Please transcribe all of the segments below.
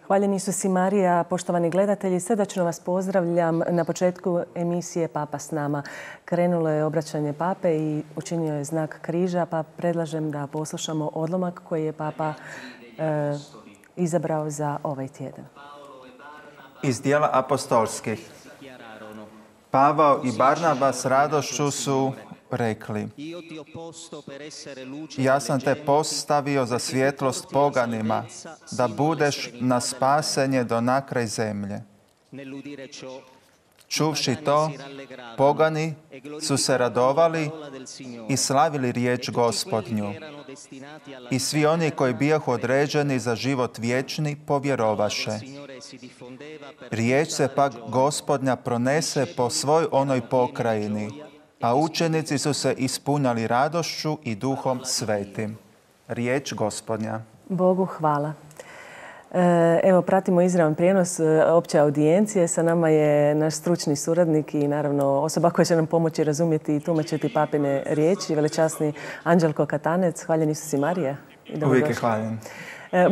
Hvaljen Isus i Marija, poštovani gledatelji, srdačno vas pozdravljam na početku emisije Papa s nama. Krenulo je obraćanje Pape i učinio je znak križa, pa predlažem da poslušamo odlomak koji je Papa izabrao za ovaj tjedan. Iz dijela apostolskih. Pavao i Barnaba s radošću su rekli: ja sam te postavio za svjetlost poganima, da budeš na spasenje do nakraj zemlje. Čuvši to, pogani su se radovali i slavili riječ Gospodnju. I svi oni koji bijahu određeni za život vječni povjerovaše. Riječ se pak Gospodnja pronese po svoj onoj pokrajini, a učenici su se ispunjali radošću i Duhom Svetim. Riječ Gospodnja. Bogu hvala. Evo, pratimo izravan prijenos opće audijencije. Sa nama je naš stručni suradnik i naravno osoba koja će nam pomoći razumjeti i tumačiti papine riječi, velečasni Anđelko Katanec. Hvaljen Isus i Marija. Uvijek je hvaljen.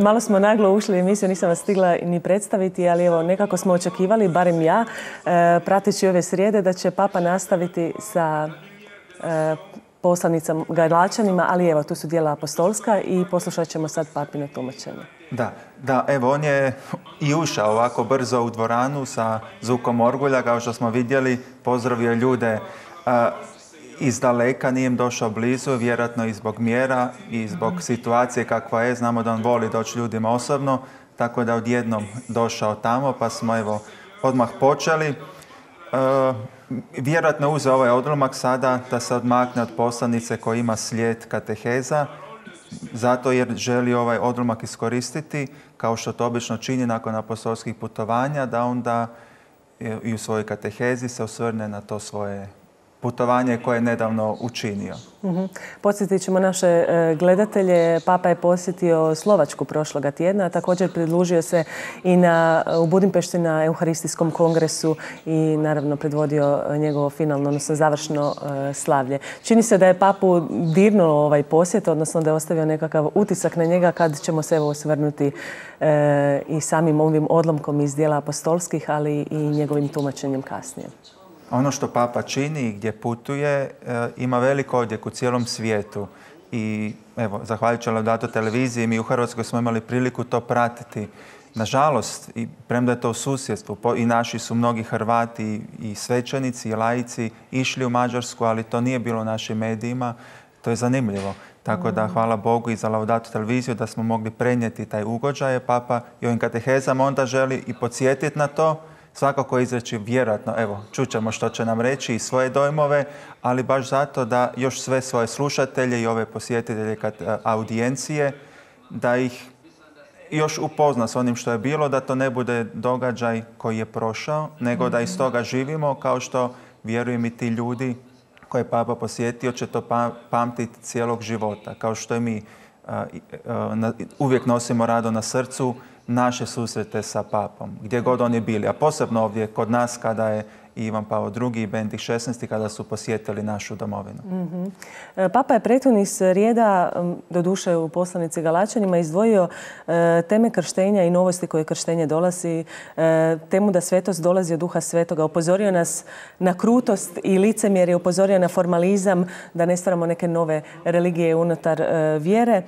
Malo smo naglo ušli u emisiju, nisam vas stigla ni predstaviti, ali evo, nekako smo očekivali, barem ja, prateći ove srijede, da će Papa nastaviti sa poslanicama Galačanima, ali evo, tu su dijela apostolska i poslušat ćemo sad Papino tumačenje. Da, evo, on je i ušao ovako brzo u dvoranu sa zvukom orgulja, kao što smo vidjeli, pozdravio ljude iz daleka, nije im došao blizu, vjerojatno i zbog mjera i zbog situacije kakva je. Znamo da on voli doći ljudima osobno, tako da odjednom došao tamo, pa smo evo odmah počeli. Vjerojatno uzeo ovaj odlomak sada da se odmakne od poslanice koja ima slijed kateheza, zato jer želi ovaj odlomak iskoristiti, kao što to obično čini nakon apostolskih putovanja, da onda i u svojoj katehezi se osvrne na to svoje putovanje koje je nedavno učinio. Podsjetit ćemo naše gledatelje. Papa je posjetio Slovačku prošloga tjedna, a također pridružio se i u Budimpešti na Euharistijskom kongresu i naravno predvodio njegovo finalno, odnosno završno slavlje. Čini se da je Papu dirnulo ovaj posjet, odnosno da je ostavio nekakav utisak na njega, kad ćemo se evo osvrnuti i samim ovim odlomkom iz dijela apostolskih, ali i njegovim tumačenjem kasnije. Ono što Papa čini i gdje putuje ima velik odjek u cijelom svijetu. I evo, zahvaljujući Laudato televiziji, mi u Hrvatskoj smo imali priliku to pratiti. Nažalost, i premda je to u susjedstvu, i naši su mnogi Hrvati i svećenici i laici išli u Mađarsku, ali to nije bilo u našim medijima. To je zanimljivo. Tako da hvala Bogu i za Laudato televiziju da smo mogli prenijeti taj ugođaj. Papa i ovim katehezama onda želi i podsjetiti na to. Svakako izreći vjerojatno, evo, čućemo što će nam reći i svoje dojmove, ali baš zato da još sve svoje slušatelje i ove posjetitelje audijencije, da ih još upozna s onim što je bilo, da to ne bude događaj koji je prošao, nego da iz toga živimo, kao što vjerujem i ti ljudi koje je Papa posjetio će to pamtiti cijelog života, kao što i mi uvijek nosimo rado na srcu naše susrete sa Papom, gdje god oni bili, a posebno ovdje kod nas kada je Ivan Pavao II i Benedikt XVI kada su posjetili našu domovinu. Papa je prethodnih srijeda, doduše u poslanici Galačanima, izdvojio teme krštenja i novosti koje krštenje donosi, temu da svetost dolazi od Duha Svetoga. Upozorio nas na krutost i licemjerje, upozorio na formalizam, da ne stvaramo neke nove religije unutar vjere.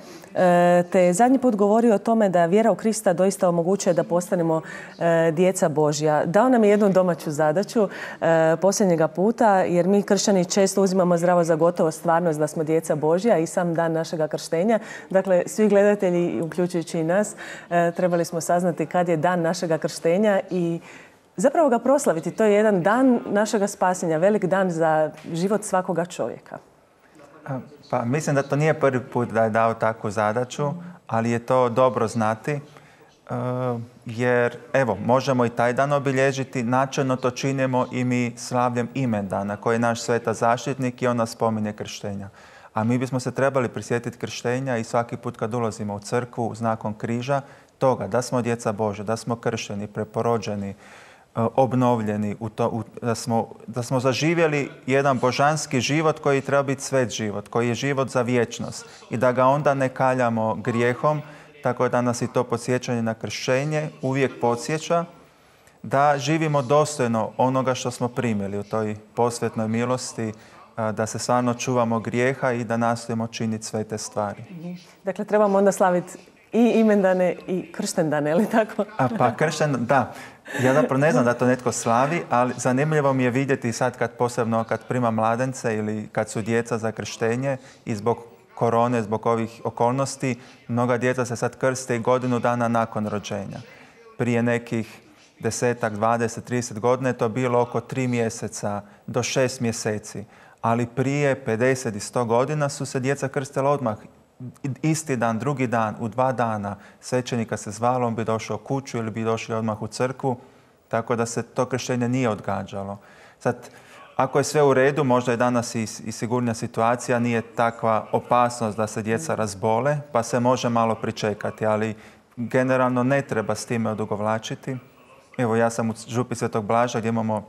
Te je zadnji put govorio o tome da vjera u Krista doista omogućuje da postanemo djeca Božja. Dao nam je jednu domaću zadaću posljednjega puta, jer mi kršćani često uzimamo zdravo za gotovo stvarnost da smo djeca Božja i sam dan našega krštenja. Dakle, svi gledatelji, uključujući i nas, trebali smo saznati kad je dan našega krštenja i zapravo ga proslaviti. To je jedan dan našega spasenja, velik dan za život svakoga čovjeka. Pa mislim da to nije prvi put da je dao takvu zadaću, ali je to dobro znati. Jer, evo, možemo i taj dan obilježiti. Načelno to činimo i mi slavljem imendana, koji je naš sveta zaštitnik i on nas spominje krštenja. A mi bismo se trebali prisjetiti krštenja i svaki put kad ulazimo u crkvu znakom križa, toga da smo djeca Božja, da smo kršteni, preporođeni, obnovljeni, da smo zaživjeli jedan božanski život koji treba biti svet život, koji je život za vječnost i da ga onda ne kaljamo grijehom, tako da nas i to podsjećanje na krštenje uvijek podsjeća da živimo dostojno onoga što smo primili u toj posvetnoj milosti, da se stvarno čuvamo grijeha i da nastojimo činiti sve te stvari. Dakle, trebamo onda slaviti i imendane i krštendane, je li tako? Pa kršten, da. Ja zapravo ne znam da to netko slavi, ali zanimljivo mi je vidjeti sad posebno kad prima mladence ili kad su djeca za krštenje i zbog korone, zbog ovih okolnosti, mnoga djeca se sad krste i godinu dana nakon rođenja. Prije nekih 10, 20, 30 godina je to bilo oko 3 mjeseca do 6 mjeseci. Ali prije 50 i 100 godina su se djeca krstila odmah. Isti dan, drugi dan, u 2 dana svećenika se zvalo, on bi došao kuću ili bi došli odmah u crkvu, tako da se to krštenje nije odgađalo. Sad, ako je sve u redu, možda je danas i sigurnija situacija, nije takva opasnost da se djeca razbole, pa se može malo pričekati, ali generalno ne treba s time odugovlačiti. Evo, ja sam u župi Svetog Blaža gdje imamo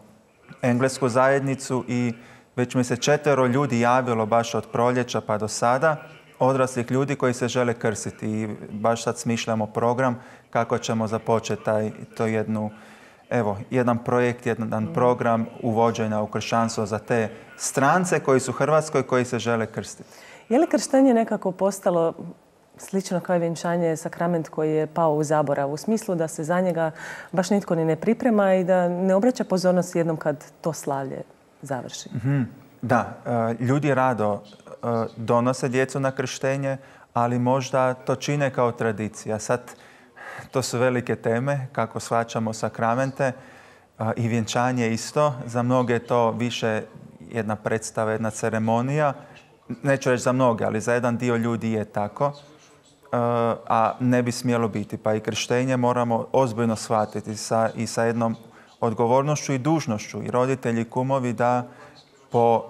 englesku zajednicu i već mi se 4 ljudi javilo baš od proljeća pa do sada, odraslih ljudi koji se žele krstiti i baš sad smišljamo program kako ćemo započeti jedan projekt, jedan program uvođenja u kršćanstvo za te strance koji su u Hrvatskoj koji se žele krstiti. Je li krštenje nekako postalo slično kao i vjenčanje, sakrament koji je pao u zaborav, u smislu da se za njega baš nitko ni ne priprema i da ne obraća pozornost jednom kad to slavlje završi? Da, ljudi rado donose djecu na krštenje, ali možda to čine kao tradicija. Sad, to su velike teme, kako shvaćamo sakramente i vjenčanje isto. Za mnoge je to više jedna predstava, jedna ceremonija. Neću reći za mnoge, ali za jedan dio ljudi je tako, a ne bi smjelo biti. Pa i krštenje moramo ozbiljno shvatiti i sa jednom odgovornošću i dužnošću. I roditelji i kumovi da po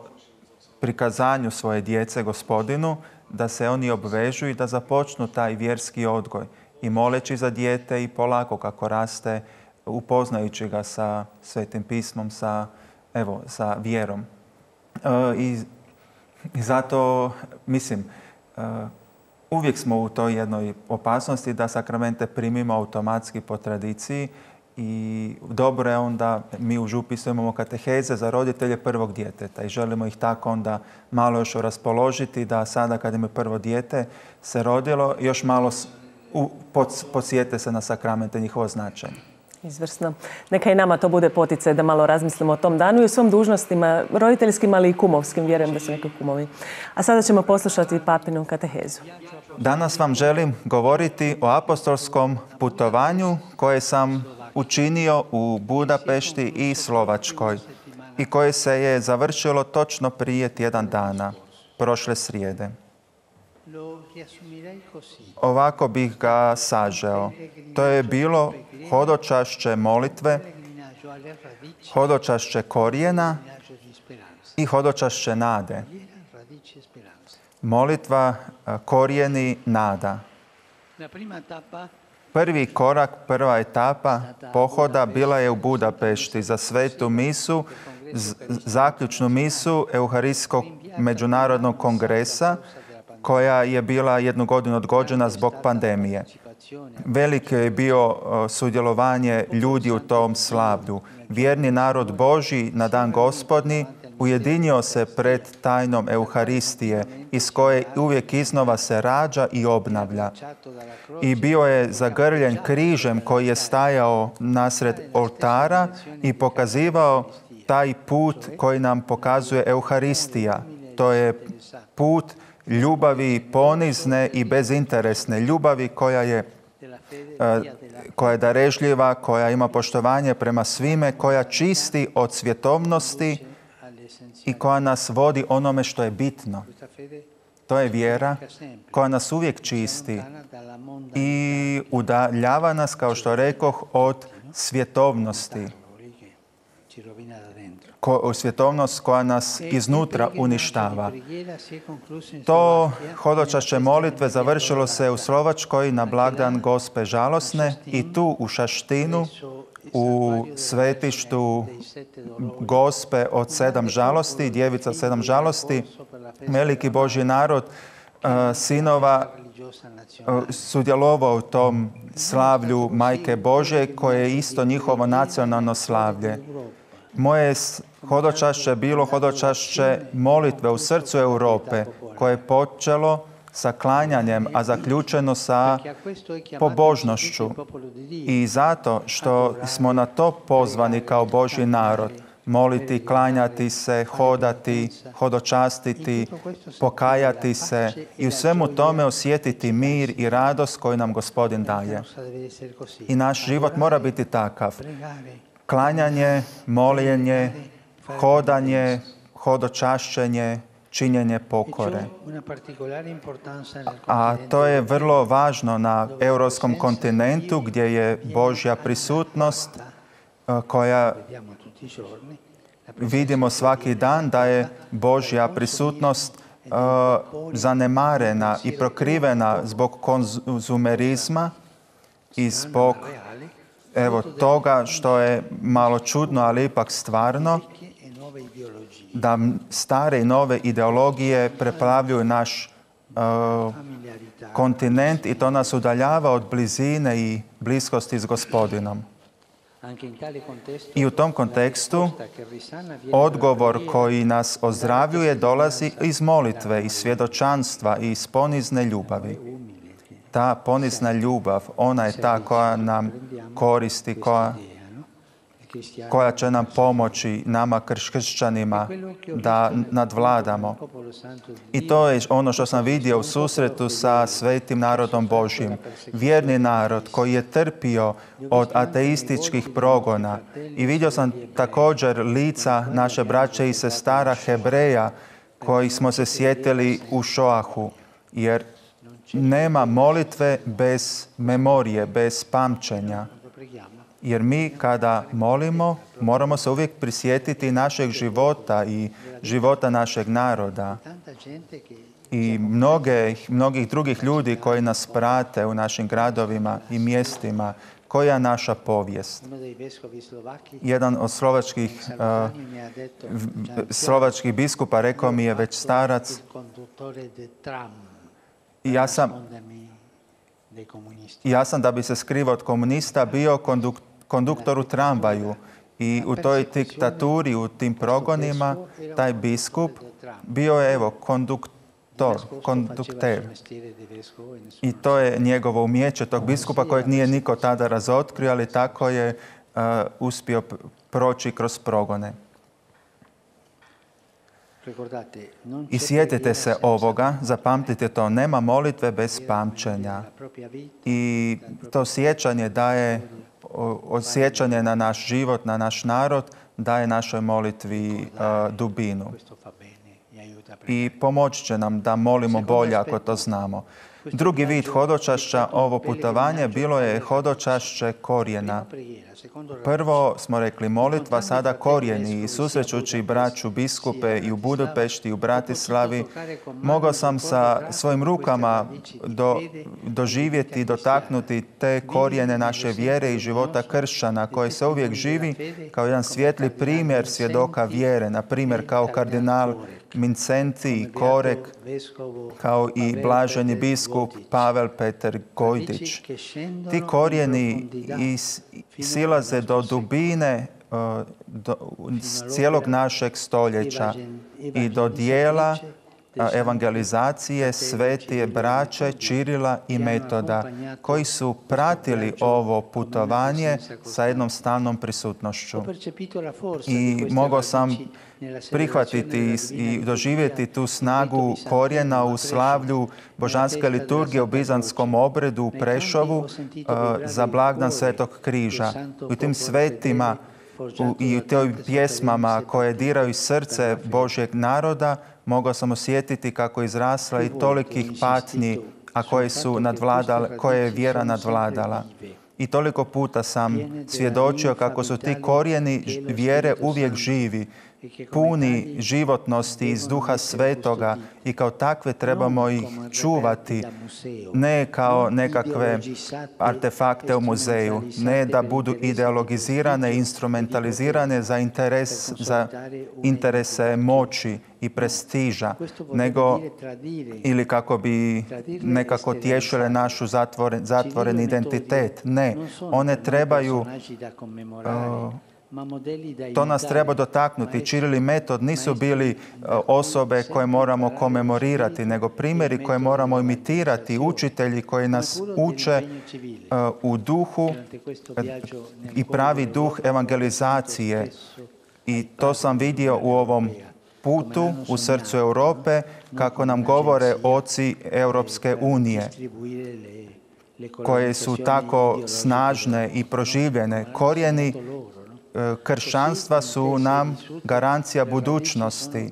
prikazanju svoje djece Gospodinu, da se oni obvežu i da započnu taj vjerski odgoj. I moleći za dijete i polako kako raste, upoznajući ga sa Svetim pismom, sa vjerom. I zato, mislim, uvijek smo u toj jednoj opasnosti da sakramente primimo automatski po tradiciji i dobro je onda, mi u župi imamo kateheze za roditelje prvog djeteta i želimo ih tako onda malo još raspoložiti da sada kad im je prvo dijete se rodilo, još malo podsjete se na sakramente, njihovo značenje. Izvrsno. Neka i nama to bude poticaj da malo razmislimo o tom danu i o svom dužnostima, roditeljskim, ali i kumovskim. Vjerujem da su neki kumovi. A sada ćemo poslušati papinu katehezu. Danas vam želim govoriti o apostolskom putovanju koje sam učinio u Budapešti i Slovačkoj i koje se je završilo točno prije tjedan dana, prošle srijede. Ovako bih ga sažeo. To je bilo hodočašće molitve, hodočašće korijena i hodočašće nade. Molitva, korijeni, nada. Prvi korak, prva etapa pohoda bila je u Budapešti za svetu misu, zaključnu misu Euharistskog međunarodnog kongresa, koja je bila 1 godinu odgođena zbog pandemije. Veliko je bio sudjelovanje ljudi u tom slavlju. Vjerni narod Božji na dan Gospodnji ujedinio se pred tajnom Euharistije iz koje uvijek iznova se rađa i obnavlja. I bio je zagrljen križem koji je stajao nasred oltara i pokazivao taj put koji nam pokazuje Euharistija. To je put ljubavi ponizne i bezinteresne, ljubavi koja je darežljiva, koja ima poštovanje prema svime, koja čisti od svjetovnosti i koja nas vodi onome što je bitno. To je vjera koja nas uvijek čisti i udaljava nas, kao što rekoh, od svjetovnosti. Svjetovnost koja nas iznutra uništava. To hodočašće molitve završilo se u Slovačkoj na blagdan Gospe žalosne i tu u Šaštinu, u svetištu Gospe od 7 žalosti, djevica od 7 žalosti, veliki Božji narod sinova sudjelovao u tom slavlju Majke Božje, koje je isto njihovo nacionalno slavlje. Moje hodočašće bilo hodočašće molitve u srcu Europe, koje je počelo sa klanjanjem, a zaključeno sa pobožnošću. I zato što smo na to pozvani kao Božji narod, moliti, klanjati se, hodati, hodočastiti, pokajati se i u svemu tome osjetiti mir i radost koju nam Gospodin daje. I naš život mora biti takav. Klanjanje, moljenje, hodanje, hodočašćenje, činjenje pokore. A to je vrlo važno na europskom kontinentu gdje je Božja prisutnost koja vidimo svaki dan da je Božja prisutnost zanemarena i prokrivena zbog konzumerizma i zbog toga što je malo čudno, ali ipak stvarno, da stare i nove ideologije preplavljuju naš kontinent i to nas udaljava od blizine i bliskosti s Gospodinom. I u tom kontekstu odgovor koji nas ozdravljuje dolazi iz molitve, iz svjedočanstva i iz ponizne ljubavi. Ta ponizna ljubav, ona je ta koja nam koristi, koja će nam pomoći, nama kršćanima, da nadvladamo. I to je ono što sam vidio u susretu sa svetim narodom Božjim. Vjerni narod koji je trpio od ateističkih progona. I vidio sam također lica naše braće i sestara Hebreja koji smo se sjetili u Šoahu. Jer nema molitve bez memorije, bez pamćenja. Jer mi kada molimo, moramo se uvijek prisjetiti našeg života i života našeg naroda. I mnogih drugih ljudi koji nas prate u našim gradovima i mjestima. Koja je naša povijest? Jedan od slovačkih biskupa rekao mi je već starac, ja sam da bi se skrivao od komunista bio konduktor u tramvaju i u toj diktaturi, u tim progonima, taj biskup bio je kondukter. I to je njegovo umjeće tog biskupa kojeg nije niko tada razotkrio, ali tako je uspio proći kroz progone. I sjetite se ovoga, zapamtite to, nema molitve bez pamćenja. I to sjećanje daje, osjećanje na naš život, na naš narod, daje našoj molitvi dubinu. I pomoći će nam da molimo bolje ako to znamo. Drugi vid hodočašća, ovo putovanje, bilo je hodočašće korijena. Prvo smo rekli molitva, sada korijeni. I susrećući braću biskupe i u Budimpešti i u Bratislavi, mogao sam sa svojim rukama doživjeti, dotaknuti te korijene naše vjere i života kršćana koji se uvijek živi kao jedan svijetli primjer svjedoka vjere. Na primjer kao kardinal Mincenti i Korek, kao i blaženi biskup Pavel Petar Gojdić. Ti korijeni silaze do dubine cijelog našeg stoljeća i do dijela evangelizacije svetije braće Čirila i Metoda, koji su pratili ovo putovanje sa jednom stalnom prisutnošću. I mogao sam prihvatiti i doživjeti tu snagu korijena u slavlju božanske liturgije u bizantskom obredu u Prešovu za blagdan Svetog križa. U tim svetima i u tim pjesmama koje diraju srce Božjeg naroda mogao sam osjetiti kako je izrasla i tolikih patnji, a koje je vjera nadvladala. I toliko puta sam svjedočio kako su ti korijeni vjere uvijek živi puni životnosti iz Duha Svetoga i kao takve trebamo ih čuvati, ne kao nekakve artefakte u muzeju, ne da budu ideologizirane, instrumentalizirane za interese moći i prestiža, nego ili kako bi nekako tješile našu zatvoren identitet. Ne, one trebaju, to nas treba dotaknuti. Čiril i Metod nisu bili osobe koje moramo komemorirati, nego primjeri koje moramo imitirati, učitelji koji nas uče u duhu i pravi duh evangelizacije. I to sam vidio u ovom putu u srcu Europe, kako nam govore oci Europske unije, koje su tako snažne i proživljene. Korijeni kršćanstva su nam garancija budućnosti.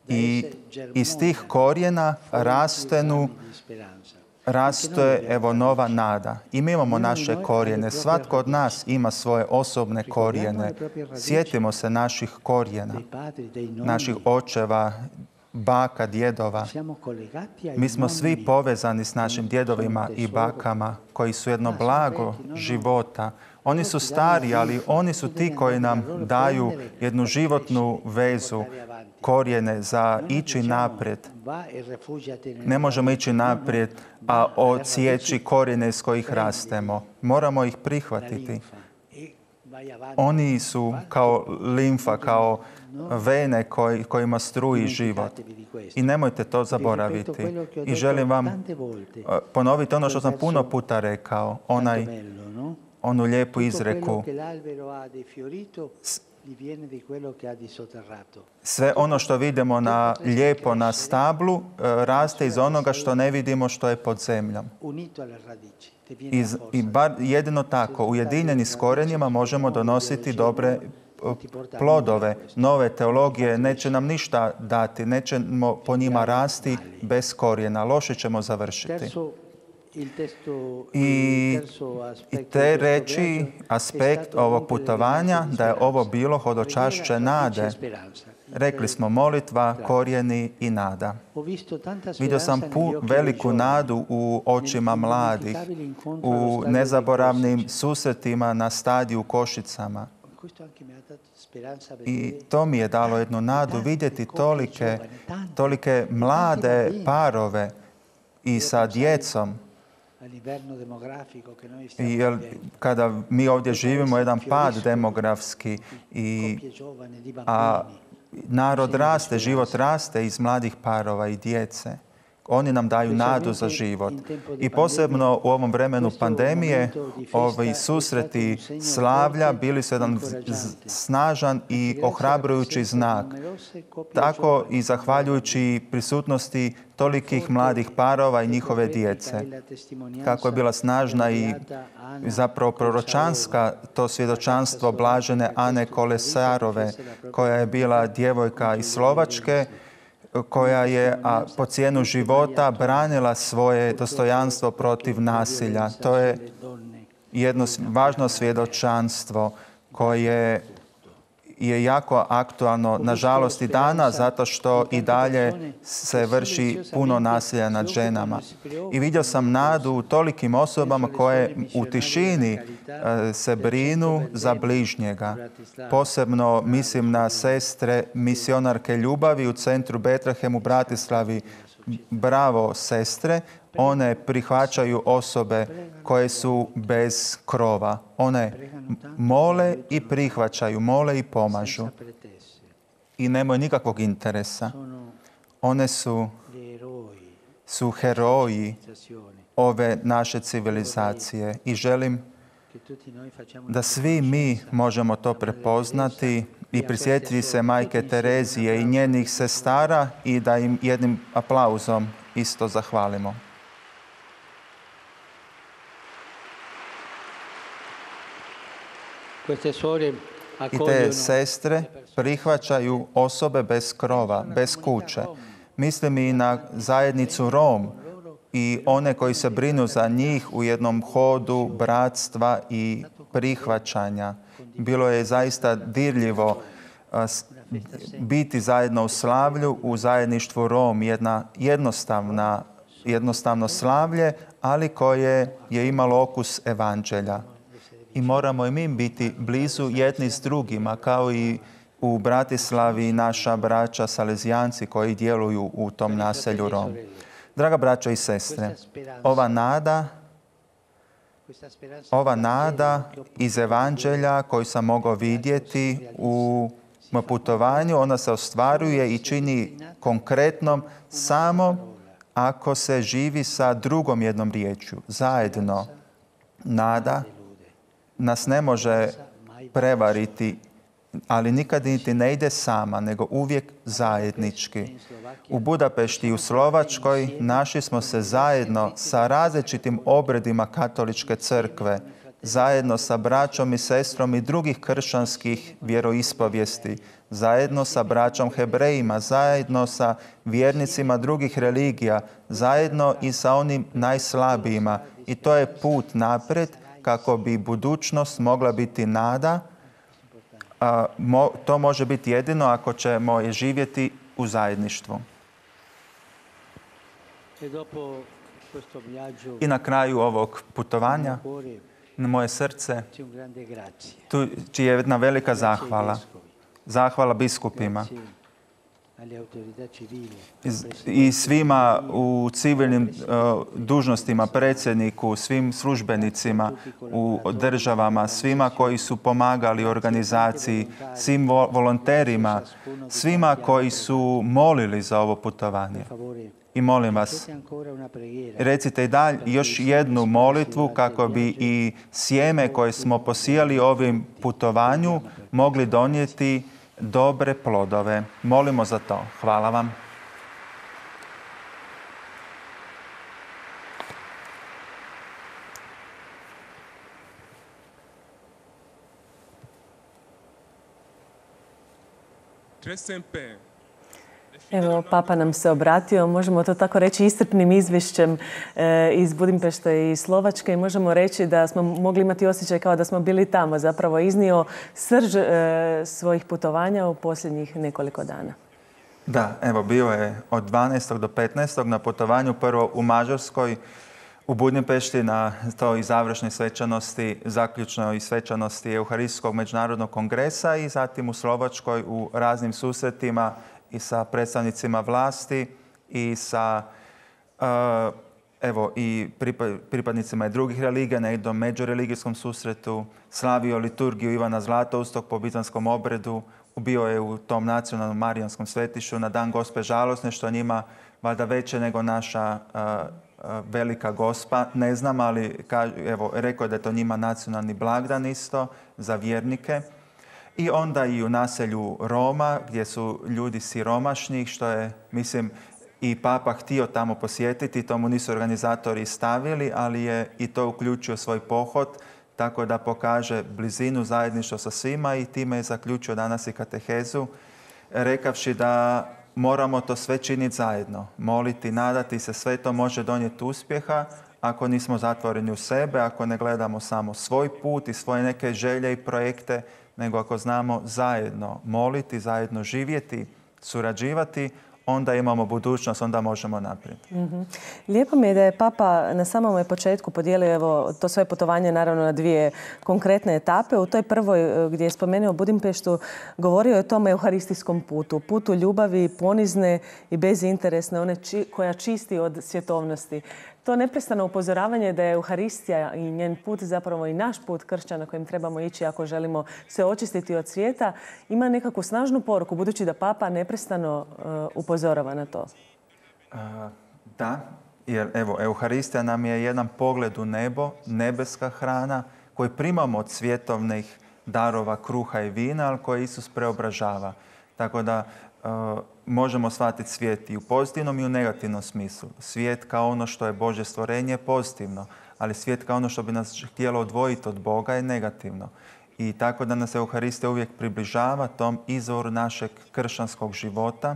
I iz tih korijena raste evo nova nada. I mi imamo naše korijene. Svatko od nas ima svoje osobne korijene. Sjetimo se naših korijena, naših očeva, baka, djedova. Mi smo svi povezani s našim djedovima i bakama koji su jedno blago života. Oni su stari, ali oni su ti koji nam daju jednu životnu vezu, korijene za ići naprijed. Ne možemo ići naprijed, a odsjeći korijene iz kojih rastemo. Moramo ih prihvatiti. Oni su kao limfa, kao vene kojima struji život. I nemojte to zaboraviti. I želim vam ponoviti ono što sam puno puta rekao, onu lijepu izreku. Sve ono što vidimo lijepo na stablu raste iz onoga što ne vidimo što je pod zemljom. I jedino tako, ujedinjeni s korijenima, možemo donositi dobre plodove. Nove teologije neće nam ništa dati, nećemo po njima rasti bez korijena. Loše ćemo završiti. I treći aspekt ovog putovanja, da je ovo bilo hodočašće nade. Rekli smo molitva, korijeni i nada. Vidio sam veliku nadu u očima mladih, u nezaboravnim susretima na stadiju u Košicama. I to mi je dalo jednu nadu vidjeti tolike mlade parove i sa djecom. Jer kada mi ovdje živimo jedan pad demografski, a narod raste, život raste iz mladih parova i djece. Oni nam daju nadu za život. I posebno u ovom vremenu pandemije, ovi susreti slavlja bili su jedan snažan i ohrabrujući znak. Tako i zahvaljujući prisutnosti tolikih mladih parova i njihove djece. Kako je bila snažna i zapravo proročanska to svjedočanstvo blažene Ane Kolesarove, koja je bila djevojka iz Slovačke, koja je po cijenu života branila svoje dostojanstvo protiv nasilja. To je jedno važno svjedočanstvo koje je jako aktualno, nažalost i danas, zato što i dalje se vrši puno nasilja nad ženama. I vidio sam nadu u tolikim osobama koje u tišini se brinu za bližnjega. Posebno mislim na sestre misionarke ljubavi u centru Betlehem u Bratislavi. Bravo, sestre! One prihvaćaju osobe koje su bez krova. One mole i prihvaćaju, mole i pomažu. I nemaju nikakvog interesa. One su heroji ove naše civilizacije. I želim da svi mi možemo to prepoznati i prisjetiti se majke Terezije i njenih sestara i da im jednim aplauzom isto zahvalimo. I te sestre prihvaćaju osobe bez krova, bez kuće. Mislim i na zajednicu Rom i one koji se brinu za njih u jednom hodu bratstva i prihvaćanja. bilo je zaista dirljivo biti zajedno u slavlju, u zajedništvu Rom, jednostavno slavlje, ali koje je imalo okus evanđelja. I moramo i mi biti blizu jedni s drugima, kao i u Bratislavi naša braća Salezijanci koji djeluju u tom naselju Rom. Draga braćo i sestre, ova nada iz evanđelja koju sam mogao vidjeti u putovanju, ona se ostvaruje i čini konkretnom samo ako se živi sa drugom jednom riječju, zajedno. Nada nas ne može prevariti, ali nikad niti ne ide sama, nego uvijek zajednički. U Budapešti i u Slovačkoj našli smo se zajedno sa različitim obredima katoličke crkve, zajedno sa braćom i sestrom i drugih kršćanskih vjeroispovijesti, zajedno sa braćom Hebrejima, zajedno sa vjernicima drugih religija, zajedno i sa onim najslabijima. I to je put naprijed kako bi budućnost mogla biti nada. To može biti jedino ako ćemo je živjeti u zajedništvu. I na kraju ovog putovanja na moje srce tu je jedna velika zahvala. Zahvala biskupima i svima u civilnim dužnostima, predsjedniku, svim službenicima u državama, svima koji su pomagali organizaciji, svim volonterima, svima koji su molili za ovo putovanje. I molim vas, recite i dalje još jednu molitvu kako bi i sjeme koje smo posijali ovim putovanju mogli donijeti dobre plodove. Molimo za to. Hvala vam. Evo, Papa nam se obratio, možemo to tako reći, iscrpnim izvješćem iz Budimpešte i Slovačke i možemo reći da smo mogli imati osjećaj kao da smo bili tamo, zapravo iznio srž svojih putovanja u posljednjih nekoliko dana. Da, evo, bio je od 12. do 15. na putovanju, prvo u Mađarskoj, u Budimpešti na toj završnoj svečanosti, zaključnoj svečanosti Euharistijskog međunarodnog kongresa i zatim u Slovačkoj u raznim susretima i sa predstavnicima vlasti i sa i pripadnicima i drugih religija na jednom međureligijskom susretu, slavio liturgiju Ivana Zlatoustog po bitanskom obredu, bio je u tom nacionalnom marijanskom svetištu na dan Gospe žalosne, što njima valjda veće nego naša velika Gospa, ne znam, ali evo, rekao je da je to njima nacionalni blagdan isto za vjernike. I onda i u naselju Roma, gdje su ljudi siromašni, što je, mislim, i Papa htio tamo posjetiti, to mu nisu organizatori stavili, ali je i to uključio svoj pohod, tako da pokaže blizinu, zajedništvo sa svima i time je zaključio danas i katehezu, rekavši da moramo to sve činiti zajedno, moliti, nadati se, sve to može donijeti uspjeha ako nismo zatvoreni u sebe, ako ne gledamo samo svoj put i svoje neke želje i projekte, nego ako znamo zajedno moliti, zajedno živjeti, surađivati, onda imamo budućnost, onda možemo naprijed. Lijepo mi je da je Papa na samom početku podijelio evo, to svoje putovanje naravno na dvije konkretne etape. U toj prvoj gdje je spomenuo Budimpeštu govorio je o tom euharistijskom putu. Putu ljubavi ponizne i bezinteresne, one koja čisti od svjetovnosti. To neprestano upozoravanje da je Euharistija i njen put, zapravo i naš put kršćana kojim trebamo ići ako želimo se očistiti od svijeta, ima nekakvu snažnu poruku, budući da Papa neprestano upozorava na to. Da, jer evo, Euharistija nam je jedan pogled u nebo, nebeska hrana koju primamo od svjetovnih darova kruha i vina, ali koje Isus preobražava. Tako da možemo shvatiti svijet i u pozitivnom i u negativnom smislu. Svijet kao ono što je Božje stvorenje je pozitivno, ali svijet kao ono što bi nas htjelo odvojiti od Boga je negativno. I tako da nas Euharistija uvijek približava tom izvoru našeg kršćanskog života,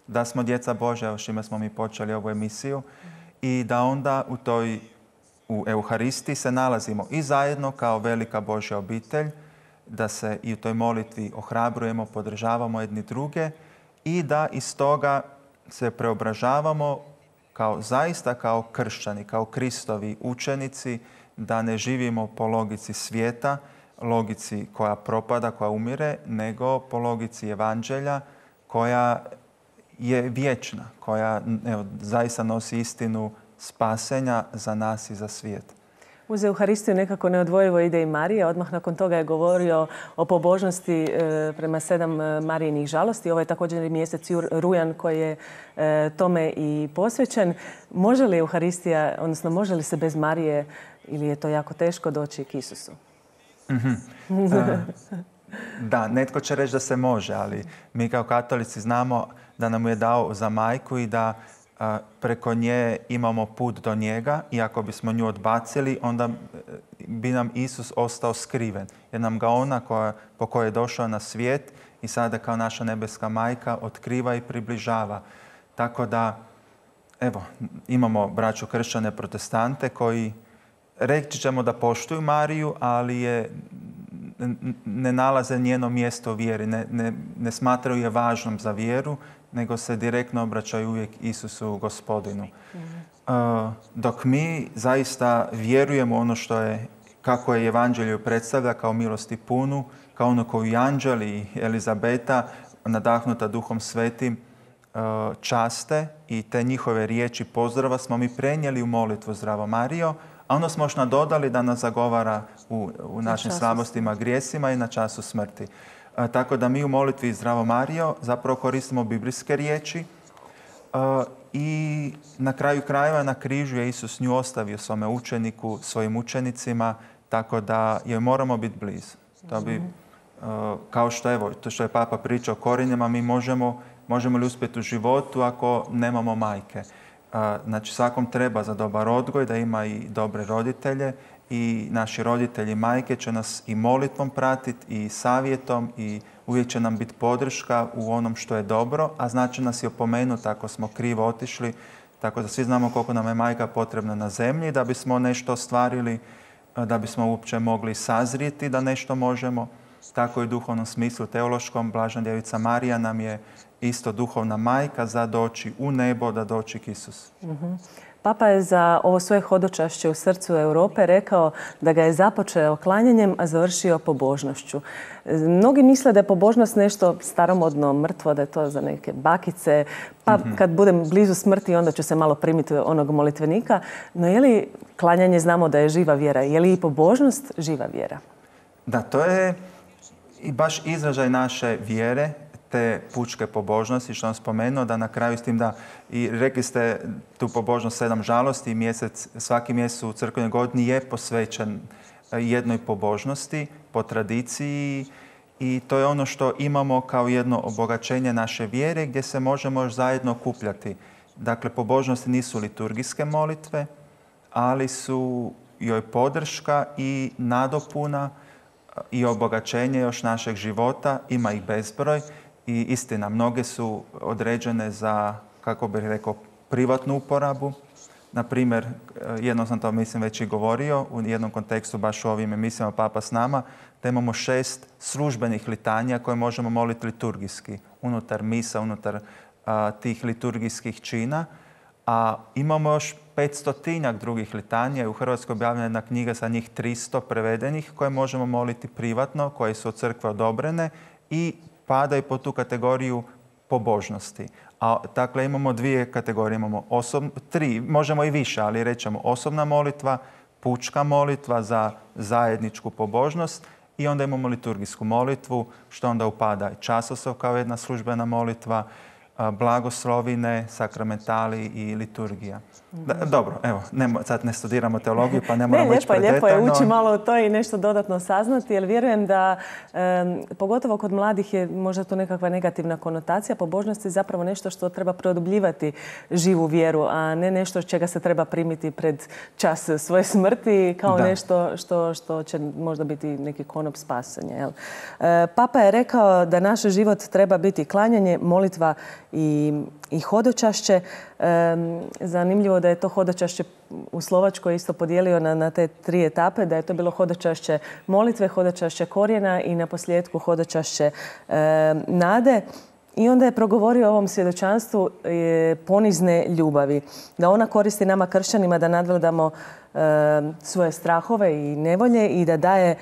da smo djeca Božja, s čime smo mi počeli ovu emisiju, i da onda u Euharistiji se nalazimo i zajedno kao velika Božja obitelj, da se i u toj molitvi ohrabrujemo, podržavamo jedni druge i da iz toga se preobražavamo zaista kao kršćani, kao Kristovi učenici, da ne živimo po logici svijeta, logici koja propada, koja umire, nego po logici evanđelja koja je vječna, koja zaista nosi istinu spasenja za nas i za svijet. Uz Euharistiju nekako neodvojivo ide i Marija. Odmah nakon toga je govorio o pobožnosti prema 7 Marijinih žalosti. Ovo je također i mjesec rujan koji je tome i posvećen. Može li Euharistija, odnosno može li se bez Marije ili je to jako teško doći k Isusu? Da, netko će reći da se može, ali mi kao katolici znamo da nam je dao za majku i da preko nje imamo put do njega i ako bismo nju odbacili, onda bi nam Isus ostao skriven. Jer nam ga ona po kojoj je došao na svijet i sada kao naša nebeska majka otkriva i približava. Tako da, evo, imamo braću kršćane protestante koji reći ćemo da poštuju Mariju, ali ne nalaze njeno mjesto u vjeri, ne smatraju je važnom za vjeru, nego se direktno obraćaju uvijek Isusu Gospodinu. Dok mi zaista vjerujemo ono kako je Evanđelje predstavlja kao milosti punu, kao ono koju anđel i Elizabeta, nadahnuta Duhom Svetim, časte i te njihove riječi pozdrava smo mi prenijeli u molitvu Zdravo Marijo, a onda smo još nadodali da nas zagovara u našim slabostima, grijesima i na času smrti. Tako da mi u molitvi Zdravo Marijo zapravo koristimo biblijske riječi i na kraju krajeva na križu je Isus nju ostavio svome učeniku, svojim učenicima, tako da joj moramo biti blizu. To bi, kao što je Papa pričao o korijenima, mi možemo li uspjeti u životu ako nemamo majke. Znači svakom treba za dobar odgoj da ima i dobre roditelje i naši roditelji i majke će nas i molitvom pratiti i savjetom i uvijek će nam biti podrška u onom što je dobro, a znači nas i opomenuti ako smo krivo otišli. Tako da svi znamo koliko nam je majka potrebna na zemlji da bismo nešto ostvarili, da bismo uopće mogli sazrijeti da nešto možemo. Tako i u duhovnom smislu teološkom Blažena Djevica Marija nam je isto duhovna majka za doći u nebo, da doći k Isusu. Papa je za ovo svoje hodočašće u srcu Europe rekao da ga je započeo klanjanjem, a završio pobožnošću. Mnogi misle da je pobožnost nešto staromodno, mrtvo, da je to za neke bakice, pa kad budem blizu smrti onda ću se malo primiti onog molitvenika. No je li klanjanje, znamo da je živa vjera, je li i pobožnost živa vjera? Da, to je i baš izražaj naše vjere, te pučke pobožnosti, što sam spomenuo, da na kraju s tim da, i rekli ste tu pobožnost 7 žalosti i svaki mjesec u crkvenoj godini je posvećen jednoj pobožnosti po tradiciji i to je ono što imamo kao jedno obogaćenje naše vjere gdje se možemo još zajedno okupljati. Dakle, pobožnosti nisu liturgijske molitve, ali su joj podrška i nadopuna i obogaćenje još našeg života, ima ih bezbroj. I istina, mnoge su određene za, kako bih rekao, privatnu uporabu. Na primjer, jednom sam to mislim već i govorio, u jednom kontekstu baš u ovim emisijama Papa s nama, da imamo 6 službenih litanija koje možemo moliti liturgijski, unutar misa, unutar tih liturgijskih čina. A imamo još 500-tinjak drugih litanija i u Hrvatskoj objavljena jedna knjiga sa njih 300 prevedenih koje možemo moliti privatno, koje su od crkve odobrene i padaju po tu kategoriju pobožnosti. Dakle, imamo 2 kategorije. Imamo 3, možemo i više, ali rećemo osobna molitva, pučka molitva za zajedničku pobožnost i onda imamo liturgijsku molitvu, što onda upada i časoslov kao jedna službena molitva, blagoslovine, sakramentali i liturgija. Dobro, evo, sad ne studiramo teologiju, pa ne moramo ići predetaljno. Lijepo je ući malo u to i nešto dodatno saznati, jer vjerujem da, pogotovo kod mladih je možda to nekakva negativna konotacija. Pobožnost je zapravo nešto što treba produbljivati živu vjeru, a ne nešto čega se treba primiti pred čas svoje smrti kao nešto što će možda biti neki konop spasenja. Papa je rekao da naš život treba biti klanjanje, molitva i hodočašće. Zanimljivo da je to hodočašće u Slovačkoj isto podijelio na te 3 etape, da je to bilo hodočašće molitve, hodočašće korijena i na posljedku hodočašće nade. I onda je progovorio o ovom svjedočanstvu ponizne ljubavi. Da ona koristi nama kršćanima da nadvladamo svoje strahove i nevolje i da daje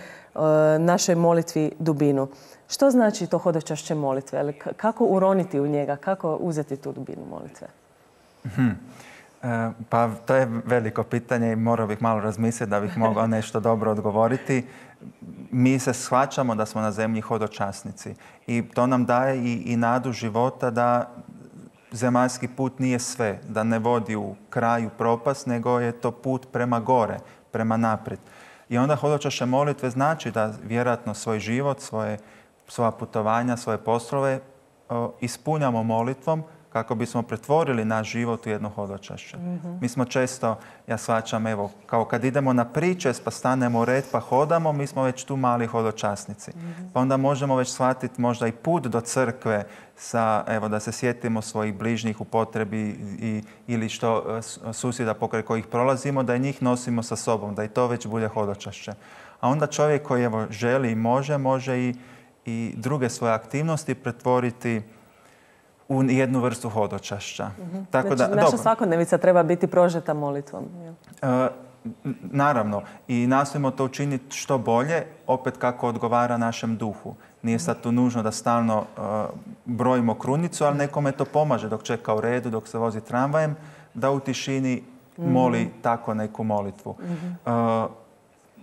našoj molitvi dubinu. Što znači to hodočašće molitve? Kako uroniti u njega? Kako uzeti tu dubinu molitve? Pa to je veliko pitanje i morao bih malo razmisliti da bih mogao nešto dobro odgovoriti. Mi se shvaćamo da smo na zemlji hodočasnici i to nam daje i nadu života da zemaljski put nije sve, da ne vodi u kraju propast, nego je to put prema gore, prema naprijed. I onda hodočašće molitve znači da vjerojatno svoj život, svoja putovanja, svoje poslove ispunjamo molitvom kako bismo pretvorili naš život u jedno hodočašće. Mi smo često, ja shvaćam, evo, kao kad idemo na pričest pa stanemo u red pa hodamo, mi smo već tu mali hodočasnici. Pa onda možemo već shvatiti možda i put do crkve evo, da se sjetimo svojih bližnjih u potrebi ili što susjeda pokraj kojih prolazimo, da i njih nosimo sa sobom, da i to već bude hodočašće. A onda čovjek koji evo, želi i može i druge svoje aktivnosti pretvoriti u jednu vrstu hodočašća. Tako znači, naša svakodnevica treba biti prožeta molitvom. Naravno. I nastojimo to učiniti što bolje, opet kako odgovara našem duhu. Nije sad tu nužno da stalno brojimo krunicu, ali nekome to pomaže dok čeka u redu, dok se vozi tramvajem, da u tišini moli tako neku molitvu.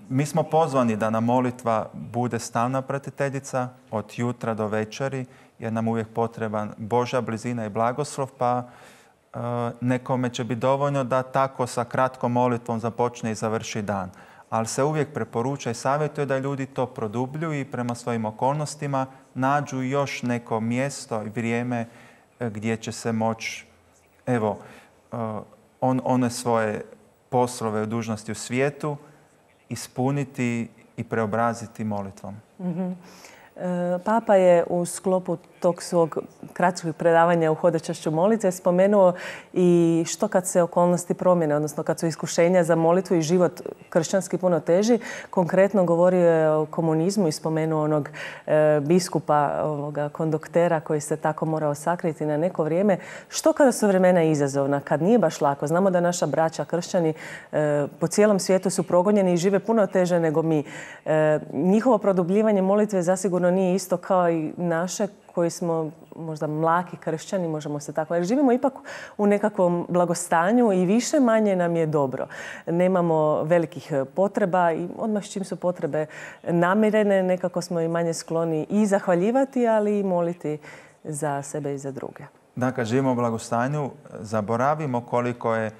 Mi smo pozvani da nam molitva bude stalna pratiteljica od jutra do večeri, jer nam uvijek potreban Božja blizina i blagoslov, pa nekome će biti dovoljno da tako sa kratkom molitvom započne i završi dan. Ali se uvijek preporuča i savjetuje da ljudi to produbljuju i prema svojim okolnostima nađu još neko mjesto i vrijeme gdje će se moći, evo, one svoje poslove i dužnosti u svijetu ispuniti i preobraziti molitvom. Papa je u sklopu tog svog kratkog predavanja u hodočašću molitve spomenuo i što kad se okolnosti promjene, odnosno kad su iskušenja za molitvu i život kršćanski puno teži. Konkretno govorio je o komunizmu i spomenuo onog biskupa, konduktera koji se tako morao sakriti na neko vrijeme. Što kada su vremena izazovna, kad nije baš lako? Znamo da naša braća kršćani po cijelom svijetu su progonjeni i žive puno teže nego mi. Njihovo produbljivanje molitve zasigurno nije isto kao i naše koji smo možda mlaki kršćani, možemo se tako. Jer živimo ipak u nekakvom blagostanju i više manje nam je dobro. Nemamo velikih potreba i odmah čim su potrebe namirene, nekako smo i manje skloni i zahvaljivati, ali i moliti za sebe i za druge. Da, kad živimo u blagostanju, zaboravimo koliko je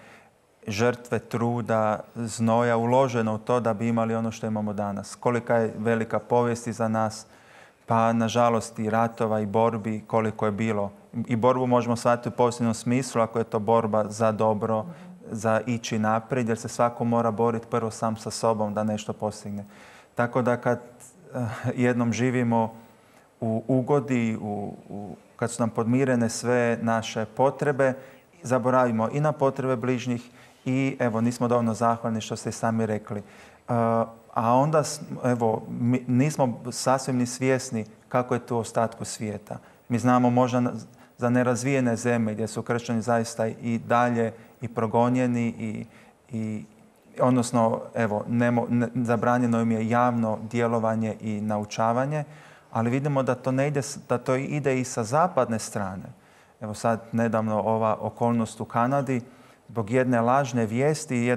žrtve, truda, znoja uloženo u to da bi imali ono što imamo danas. Kolika je velika povijest iza nas, pa nažalost i ratova i borbi koliko je bilo. I borbu možemo shvatiti u pozitivnom smislu ako je to borba za dobro, za ići naprijed, jer se svako mora boriti prvo sam sa sobom da nešto postigne. Tako da kad jednom živimo u ugodi, kad su nam podmirene sve naše potrebe, zaboravimo i na potrebe bližnjih i evo nismo dovoljno zahvalni što ste i sami rekli. A onda, evo, nismo sasvim ni svjesni kako je to u ostatku svijeta. Mi znamo možda za nerazvijene zemlje gdje su kršćani zaista i dalje i progonjeni odnosno, evo, zabranjeno im je javno djelovanje i naučavanje, ali vidimo da to ne ide, da to ide i sa zapadne strane. Evo sad nedavno ova okolnost u Kanadi zbog jedne lažne vijesti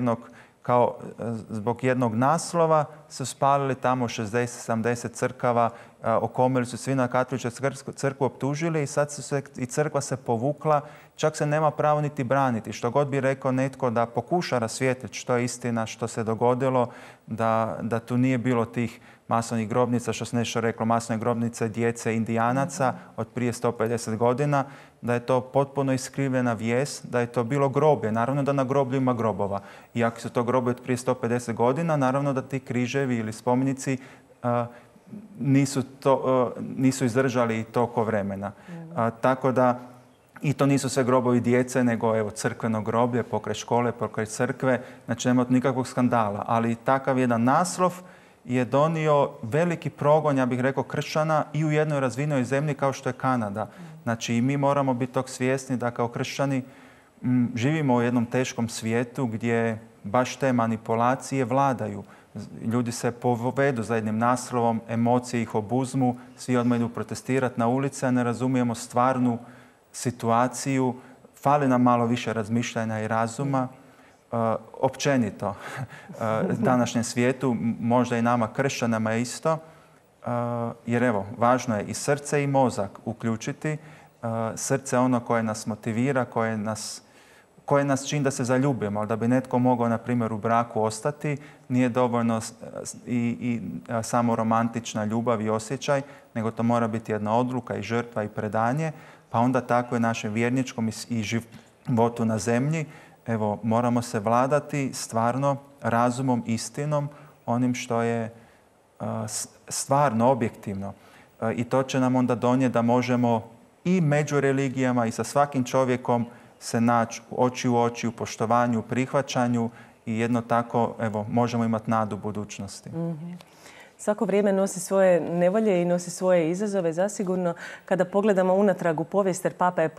zbog jednog naslova su spalili tamo 60-70 crkava, okomili su svi na katoličku crkvu, optužili i sad i crkva se povukla, čak se nema pravo niti braniti. Što god bi rekao netko da pokuša rasvijetliti što je istina, što se dogodilo, da tu nije bilo tih masovnih grobnica, što se nešto reklo, masovne grobnice djece indijanaca od prije 150 godina, da je to potpuno iskrivljena vijest, da je to bilo groblje. Naravno da na groblju ima grobova. I ako su to groblje od prije 150 godina, naravno da ti križevi ili spomenici nisu izdržali toliko vremena. Tako da I to nisu sve grobovi djece, nego evo crkveno groblje, pokraj škole, pokraj crkve. Znači nema nikakvog skandala. Ali takav jedan naslov je donio veliki progon, ja bih rekao, kršćana i u jednoj razvijenoj zemlji kao što je Kanada. Znači i mi moramo biti tog svjesni da kao kršćani živimo u jednom teškom svijetu gdje baš te manipulacije vladaju. Ljudi se povedu za jednim naslovom, emocije ih obuzmu, svi odmah idu protestirati na ulice, a ne razumijemo stvarnu situaciju. Fali nam malo više razmišljanja i razuma. Općenito, današnjem svijetu, možda i nama kršćanama isto, jer evo, važno je i srce i mozak uključiti. Srce je ono koje nas motivira, koje nas čini da se zaljubimo, ali da bi netko mogao, na primjer, u braku ostati, nije dovoljno i samo romantična ljubav i osjećaj, nego to mora biti jedna odluka i žrtva i predanje, pa onda tako i našem vjerničkom i životu na zemlji. Evo, moramo se vladati stvarno razumom, istinom, onim što je stvarno, objektivno. I to će nam onda donijeti da možemo i među religijama i sa svakim čovjekom se naći oči u oči, u poštovanju, u prihvaćanju i jedno tako, evo, možemo imati nadu u budućnosti. Svako vrijeme nosi svoje nevolje i nosi svoje izazove. Zasigurno, kada pogledamo unatrag u povijest, jer Papa je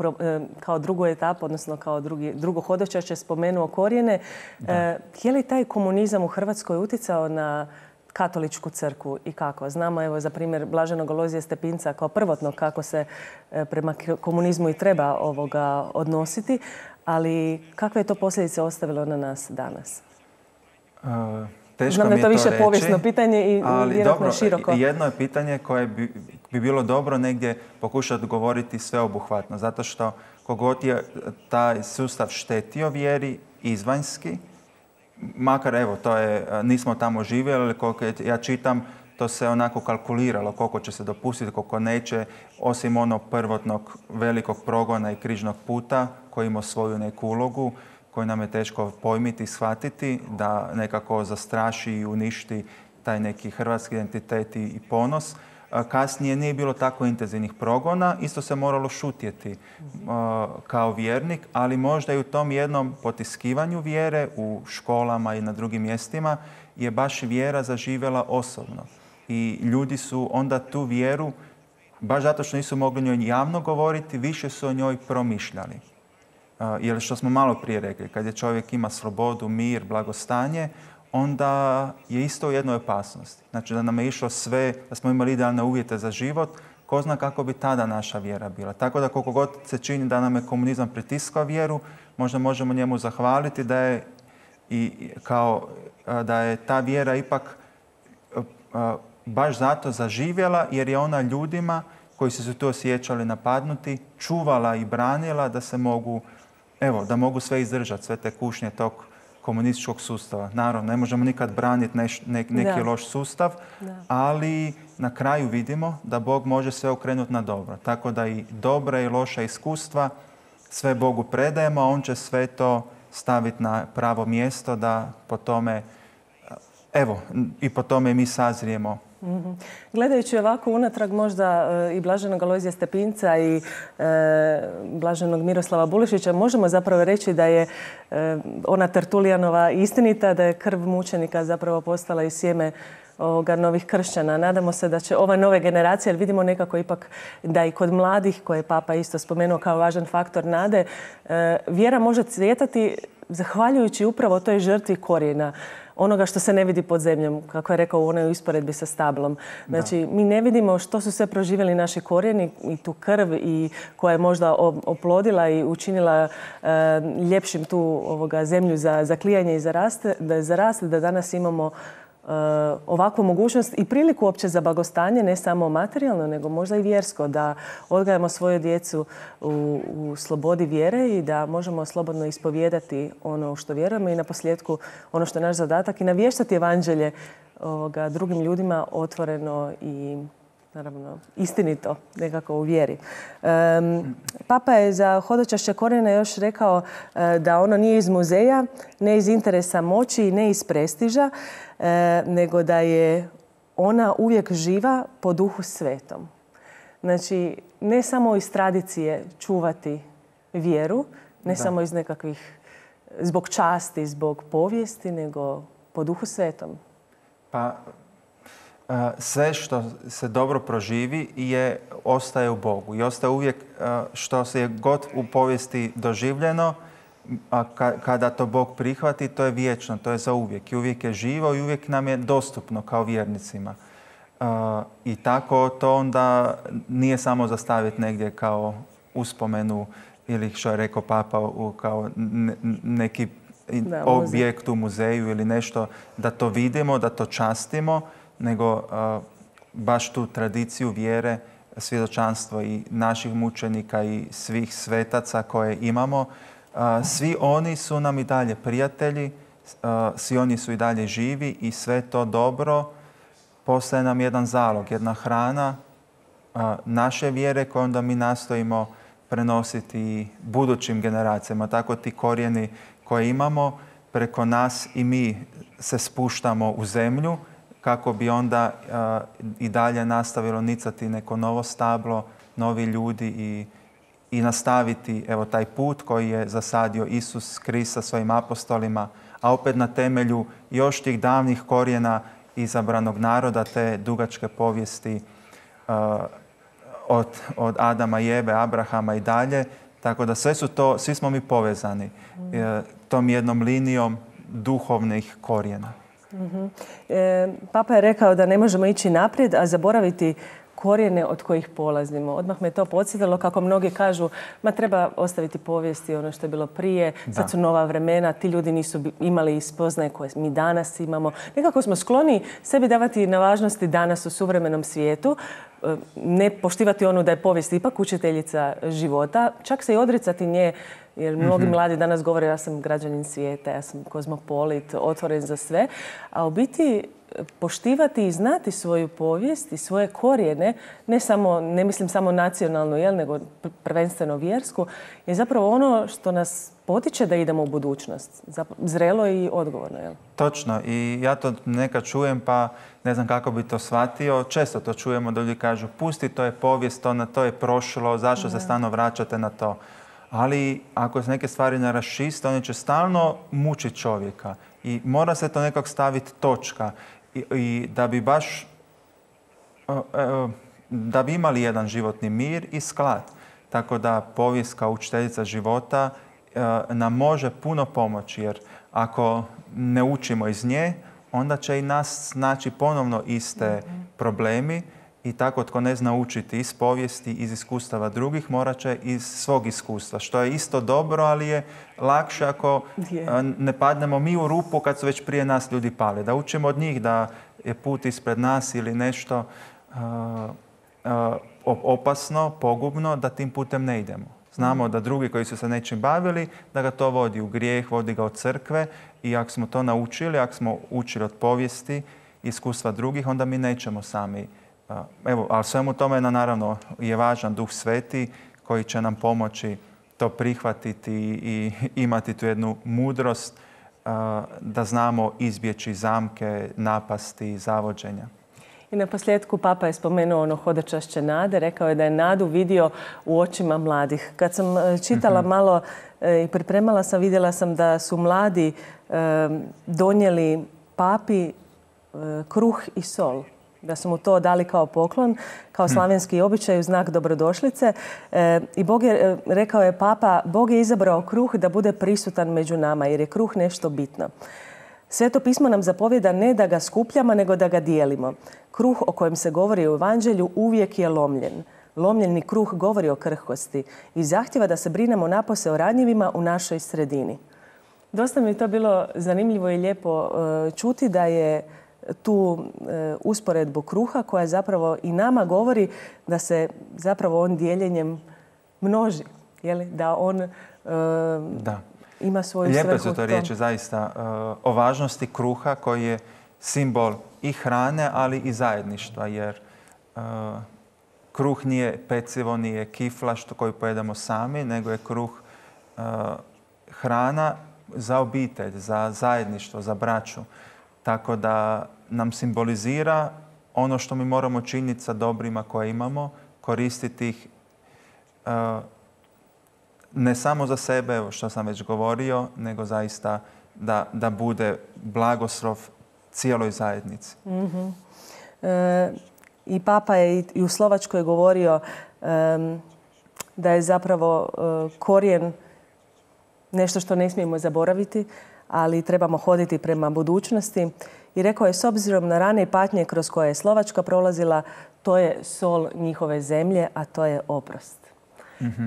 kao drugu etapu, odnosno kao drugo hodočašće spomenuo korijene. Je li taj komunizam u Hrvatskoj utjecao na katoličku crkvu i kako? Znamo, evo, za primjer Blaženog Alojzija Stepinca kao prvotno kako se prema komunizmu i treba odnositi, ali kakve je to posljedice ostavilo na nas danas? Znam da je to više povijesno pitanje i vjerojatno široko. Jedno je pitanje koje bi bilo dobro negdje pokušati govoriti sveobuhvatno, zato što kogod je taj sustav štetio vjeri izvanjski, makar evo, to je, nismo tamo živjeli, ali koliko ja čitam, to se onako kalkuliralo koliko će se dopustiti, koliko neće, osim onog prvotnog velikog progona i križnog puta koji ima svoju neku ulogu, koju nam je teško pojmiti i shvatiti, da nekako zastraši i uništi taj neki hrvatski identitet i ponos. Kasnije nije bilo tako intenzivnih progona, isto se moralo šutjeti kao vjernik, ali možda i u tom jednom potiskivanju vjere u školama i na drugim mjestima je baš vjera zaživjela osobno. I ljudi su onda tu vjeru, baš zato što nisu mogli njoj javno govoriti, više su o njoj promišljali. Jer što smo malo prije rekli, kad je čovjek ima slobodu, mir, blagostanje, onda je isto u jednoj opasnosti. Znači da nam je išlo sve, da smo imali idealne uvjete za život, ko zna kako bi tada naša vjera bila. Tako da koliko god se čini da nam je komunizam pritiskao vjeru, možda možemo njemu zahvaliti da je ta vjera ipak baš zato zaživjela, jer je ona ljudima koji su se tu osjećali napadnuti, čuvala i branila da se mogu, evo, da mogu sve izdržati, sve te kušnje tog komunističkog sustava. Naravno, ne možemo nikad braniti neki loš sustav, ali na kraju vidimo da Bog može sve okrenuti na dobro. Tako da i dobra i loša iskustva sve Bogu predajemo, a On će sve to staviti na pravo mjesto da po tome, evo, i po tome mi sazrijemo. Gledajući ovako unatrag možda i Blaženog Alojzija Stepinca i Blaženog Miroslava Bulešića, možemo zapravo reći da je ona Tertulijanova istinita, da je krv mučenika zapravo postala i sjeme novih kršćana. Nadamo se da će ova nove generacije, jer vidimo nekako ipak da i kod mladih, koje je Papa isto spomenuo kao važan faktor nade, vjera može cvjetati zahvaljujući upravo toj žrtvi korijena, onoga što se ne vidi pod zemljom, kako je rekao u onoj usporedbi sa stablom. Znači, mi ne vidimo što su sve proživjeli naši korijeni i tu krv i koja je možda oplodila i učinila ljepšim tu zemlju za klijanje i za rast, da danas imamo ovakvu mogućnost i priliku uopće za blagostanje, ne samo materijalno, nego možda i vjersko, da odgajamo svoju djecu u slobodi vjere i da možemo slobodno ispovijedati ono što vjerujemo i naposljetku ono što je naš zadatak i navještati evanđelje drugim ljudima otvoreno i naravno istinito nekako u vjeri. Papa je za hodočašće korijena još rekao da ono nije iz muzeja, ne iz interesa moći i ne iz prestiža, nego da je ona uvijek živa po Duhu Svetom. Znači, ne samo iz tradicije čuvati vjeru, ne samo iz nekakvih, zbog časti, zbog povijesti, nego po Duhu Svetom? Pa, sve što se dobro proživi ostaje u Bogu i ostaje uvijek što se je god u povijesti doživljeno, a kada to Bog prihvati, to je vječno, to je za uvijek i uvijek je živo i uvijek nam je dostupno kao vjernicima. I tako to onda nije samo zastaviti negdje kao uspomenu ili što je rekao Papa kao neki objekt u muzeju ili nešto, da to vidimo, da to častimo, nego baš tu tradiciju vjere, svjedočanstvo i naših mučenika i svih svetaca koje imamo. Svi oni su nam i dalje prijatelji, svi oni su i dalje živi i sve to dobro postaje nam jedan zalog, jedna hrana naše vjere koju onda mi nastojimo prenositi budućim generacijama. Tako ti korijeni koje imamo, preko nas i mi se spuštamo u zemlju kako bi onda i dalje nastavilo nicati neko novo stablo, novi ljudi i nastaviti taj put koji je zasadio Isus Krist sa svojim apostolima, a opet na temelju još tih davnih korijena izabranog naroda, te dugačke povijesti od Adama i Eve, Abrahama i dalje. Tako da svi smo mi povezani tom jednom linijom duhovnih korijena. Papa je rekao da ne možemo ići naprijed, a zaboraviti korijene od kojih polazimo. Odmah me to podsjetilo kako mnogi kažu ma treba ostaviti povijesti ono što je bilo prije, sad su nova vremena, ti ljudi nisu imali spoznaje koje mi danas imamo. Nekako smo skloni sebi davati na važnosti danas u suvremenom svijetu, ne poštivati onu da je povijest ipak učiteljica života, čak se i odricati nje, jer mnogi mladi danas govore ja sam građanin svijeta, ja sam kozmopolit, otvoren za sve, a u biti poštivati i znati svoju povijest i svoje korijene, ne mislim samo nacionalnu, nego prvenstveno vjersku, je zapravo ono što nas potiče da idemo u budućnost. Zrelo i odgovorno. Jel? Točno. I ja to nekad čujem, pa ne znam kako bi to shvatio. Često to čujemo da ljudi kažu pusti, to je povijest, to je prošlo, zašto se stalno vraćate na to. Ali ako se neke stvari ne raščiste, one će stalno mučiti čovjeka. I mora se to nekako staviti točka. I da bi baš da bi imali jedan životni mir i sklad. Tako da povijest kao učiteljica života nam može puno pomoći, jer ako ne učimo iz nje, onda će i nas naći ponovno iste problemi i tako tko ne zna učiti iz povijesti, iz iskustava drugih, morat će iz svog iskustva, što je isto dobro, ali je lakše ako ne padnemo mi u rupu kad su već prije nas ljudi pali. Da učimo od njih da je put ispred nas ili nešto opasno, pogubno, da tim putem ne idemo. Znamo da drugi koji su se nečim bavili, da ga to vodi u grijeh, vodi ga od crkve i ako smo to naučili, ako smo učili od povijesti, iskustva drugih, onda mi nećemo sami. Ali svemu tome naravno je važan Duh Sveti koji će nam pomoći to prihvatiti i imati tu jednu mudrost da znamo izbjeći zamke, napasti, zavođenja. I na posljedku Papa je spomenuo ono hodočašće nade, rekao je da je nadu vidio u očima mladih. Kad sam čitala malo i pripremala sam, vidjela sam da su mladi donijeli papi kruh i sol. Da su mu to dali kao poklon, kao slavenski običaj u znak dobrodošlice. I rekao je Papa, Bog je izabrao kruh da bude prisutan među nama, jer je kruh nešto bitno. Sveto pismo nam zapovijeda ne da ga skupljamo, nego da ga dijelimo. Kruh o kojem se govori u Evanđelju uvijek je lomljen. Lomljeni kruh govori o krhkosti i zahtjeva da se brinemo napose o ranjivima u našoj sredini. Dosta mi je to bilo zanimljivo i lijepo čuti da je tu usporedbu kruha koja zapravo i nama govori da se zapravo on dijeljenjem množi. Da on ima svoju svrhu. Lijepe su to riječi zaista o važnosti kruha koji je simbol i hrane, ali i zajedništva. Jer kruh nije pecivo, nije kifla koju pojedemo sami, nego je kruh hrana za obitelj, za zajedništvo, za braću. Tako da nam simbolizira ono što mi moramo činiti sa dobrima koje imamo, koristiti ih ne samo za sebe, evo što sam već govorio, nego zaista da bude blagoslov cijeloj zajednici. I Papa je i u Slovačkoj govorio da je zapravo korijen nešto što ne smijemo zaboraviti, ali trebamo hoditi prema budućnosti. I rekao je, s obzirom na rane patnje kroz koje je Slovačka prolazila, to je sol njihove zemlje, a to je oprost.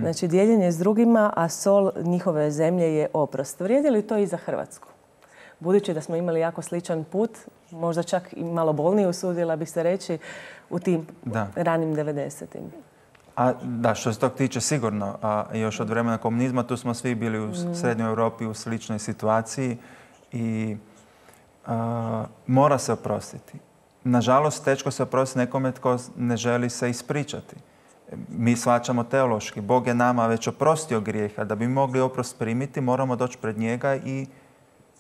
Znači, dijeljenje s drugima, a sol njihove zemlje je oprost. Vrijedi li to i za Hrvatsku? Budući da smo imali jako sličan put, možda čak i malo bolniji, usudila bih se reći, u tim ranim 90-im. Da, što se tog tiče sigurno. A još od vremena komunizma tu smo svi bili u Srednjoj Europi u sličnoj situaciji i mora se oprostiti. Nažalost, teško se oprostiti nekome tko ne želi se ispričati. Mi shvaćamo teološki. Bog je nama već oprostio grijeha. Da bi mogli oprost primiti, moramo doći pred njega i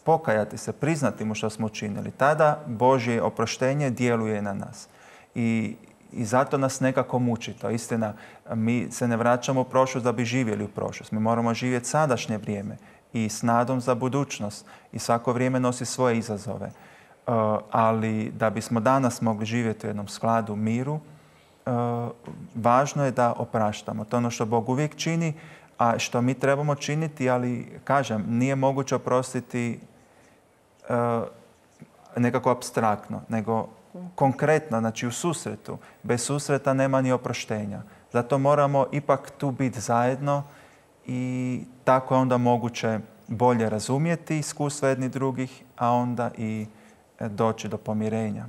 pokajati se, priznati mu što smo učinili. Tada Božje oproštenje djeluje na nas. I zato nas nekako muči. To istina, mi se ne vraćamo u prošlost da bi živjeli u prošlost. Mi moramo živjeti sadašnje vrijeme i s nadom za budućnost. I svako vrijeme nosi svoje izazove. Ali da bismo danas mogli živjeti u jednom skladu, miru, važno je da opraštamo. To je ono što Bog uvijek čini, a što mi trebamo činiti, ali kažem, nije moguće oprostiti nekako apstraktno, nego konkretno, znači u susretu. Bez susreta nema ni oproštenja. Zato moramo ipak tu biti zajedno i tako je onda moguće bolje razumjeti iskustva jednih drugih, a onda i doći do pomirenja.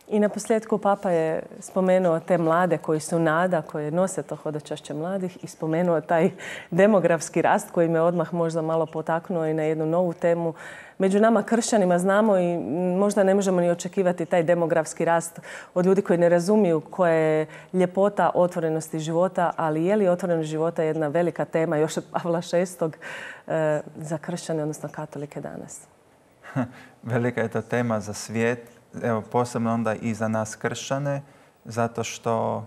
I na posljedku Papa je spomenuo te mlade koji su nada, koji nose to hodočašće mladih i spomenuo taj demografski rast koji me odmah možda malo potaknuo i na jednu novu temu. Među nama kršćanima znamo i možda ne možemo ni očekivati taj demografski rast od ljudi koji ne razumiju koja je ljepota otvorenosti života, ali je li otvorenost života jedna velika tema još od Pavla VI za kršćane, odnosno katolike danas? Velika je to tema za svijet. Evo, posebno onda i za nas kršćane, zato što,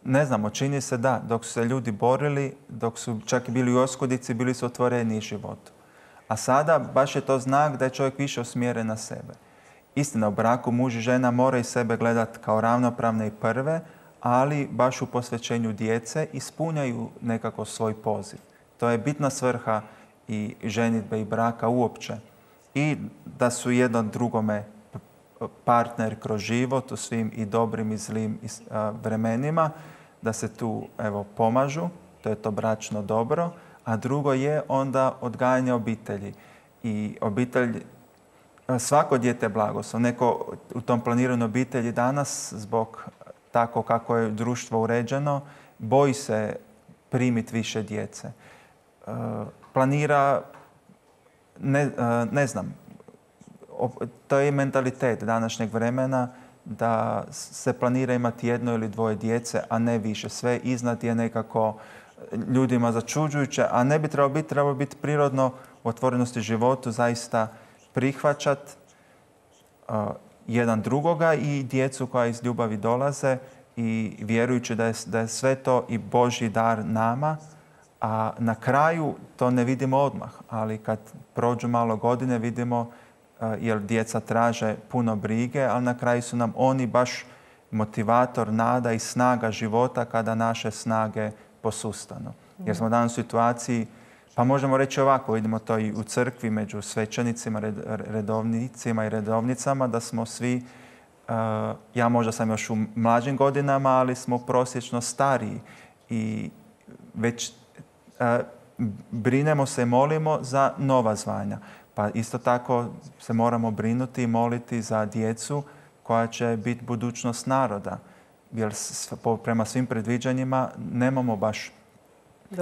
ne znamo, čini se da, dok su se ljudi borili, dok su čak i bili u oskudici, bili su otvoreni životu. A sada baš je to znak da je čovjek više usmjeren na sebe. Istina, u braku muž i žena moraju sebe gledati kao ravnopravne i prve, ali baš u posvećenju djece ispunjaju nekako svoj poziv. To je bitna svrha i ženidbe i braka uopće. I da su jedno drugome partner kroz život u svim i dobrim i zlim vremenima, da se tu pomažu, to je to bračno dobro, a drugo je onda odgajanje obitelji. I obitelj, svako dijete je blagoslov. Neko u tom planiranju obitelji danas, zbog tako kako je društvo uređeno, boji se primiti više djece. Planira, ne znam, to je mentalitet današnjeg vremena da se planira imati jedno ili dvoje djece, a ne više. Sve iznad je nekako ljudima začuđujuće, a ne bi trebalo biti prirodno u otvorenosti životu zaista prihvaćati jedan drugoga i djecu koja iz ljubavi dolaze i vjerujući da je sve to i Božji dar nama, a na kraju to ne vidimo odmah, ali kad prođu malo godine vidimo jer djeca traže puno brige, ali na kraju su nam oni baš motivator, nada i snaga života kada naše snage posustanu. Jer smo danas u situaciji, pa možemo reći ovako, vidimo to i u crkvi među svećenicima, redovnicima i redovnicama, da smo svi, ja možda sam još u mlađim godinama, ali smo prosječno stariji i već brinemo se i molimo za nova zvanja. Pa isto tako se moramo brinuti i moliti za djecu koja će biti budućnost naroda. Jer prema svim predviđanjima nemamo baš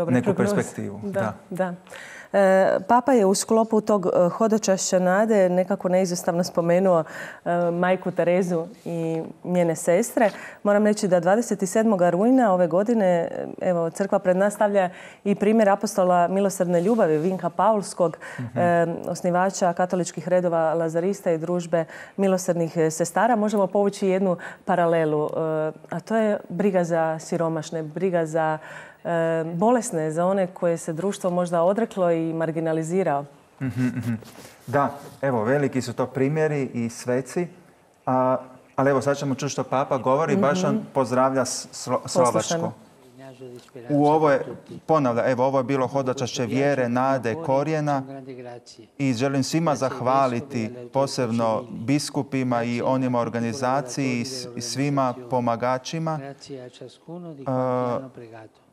neku perspektivu. Da. Papa je u sklopu tog hodočašća nade nekako neizostavno spomenuo majku Terezu i njene sestre. Moram reći da 27. rujna ove godine crkva pred nas stavlja i primjer apostola milosrdne ljubavi Vinka Paulskog, osnivača katoličkih redova Lazarista i družbe milosrdnih sestara. Možemo povući jednu paralelu, a to je briga za siromašne, briga za bolesne, za one koje se društvo možda odreklo i marginalizirao. Da, evo, veliki su to primjeri i sveci. Ali evo, sad ćemo čuti što Papa govori. Baš on pozdravlja Slovačku. Ovo je bilo hodočašće vjere, nade, korijena i želim svima zahvaliti, posebno biskupima i onima organizaciji i svima pomagačima.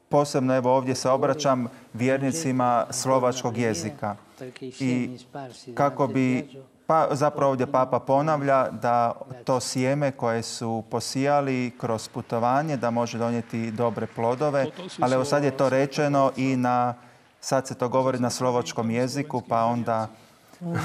Posebno evo ovdje se obraćam vjernicima slovačkog jezika. I kako bi, zapravo ovdje Papa ponavlja da to sjeme koje su posijali kroz putovanje da može donijeti dobre plodove, ali evo sad je to rečeno i sad se to govori na slovačkom jeziku, pa onda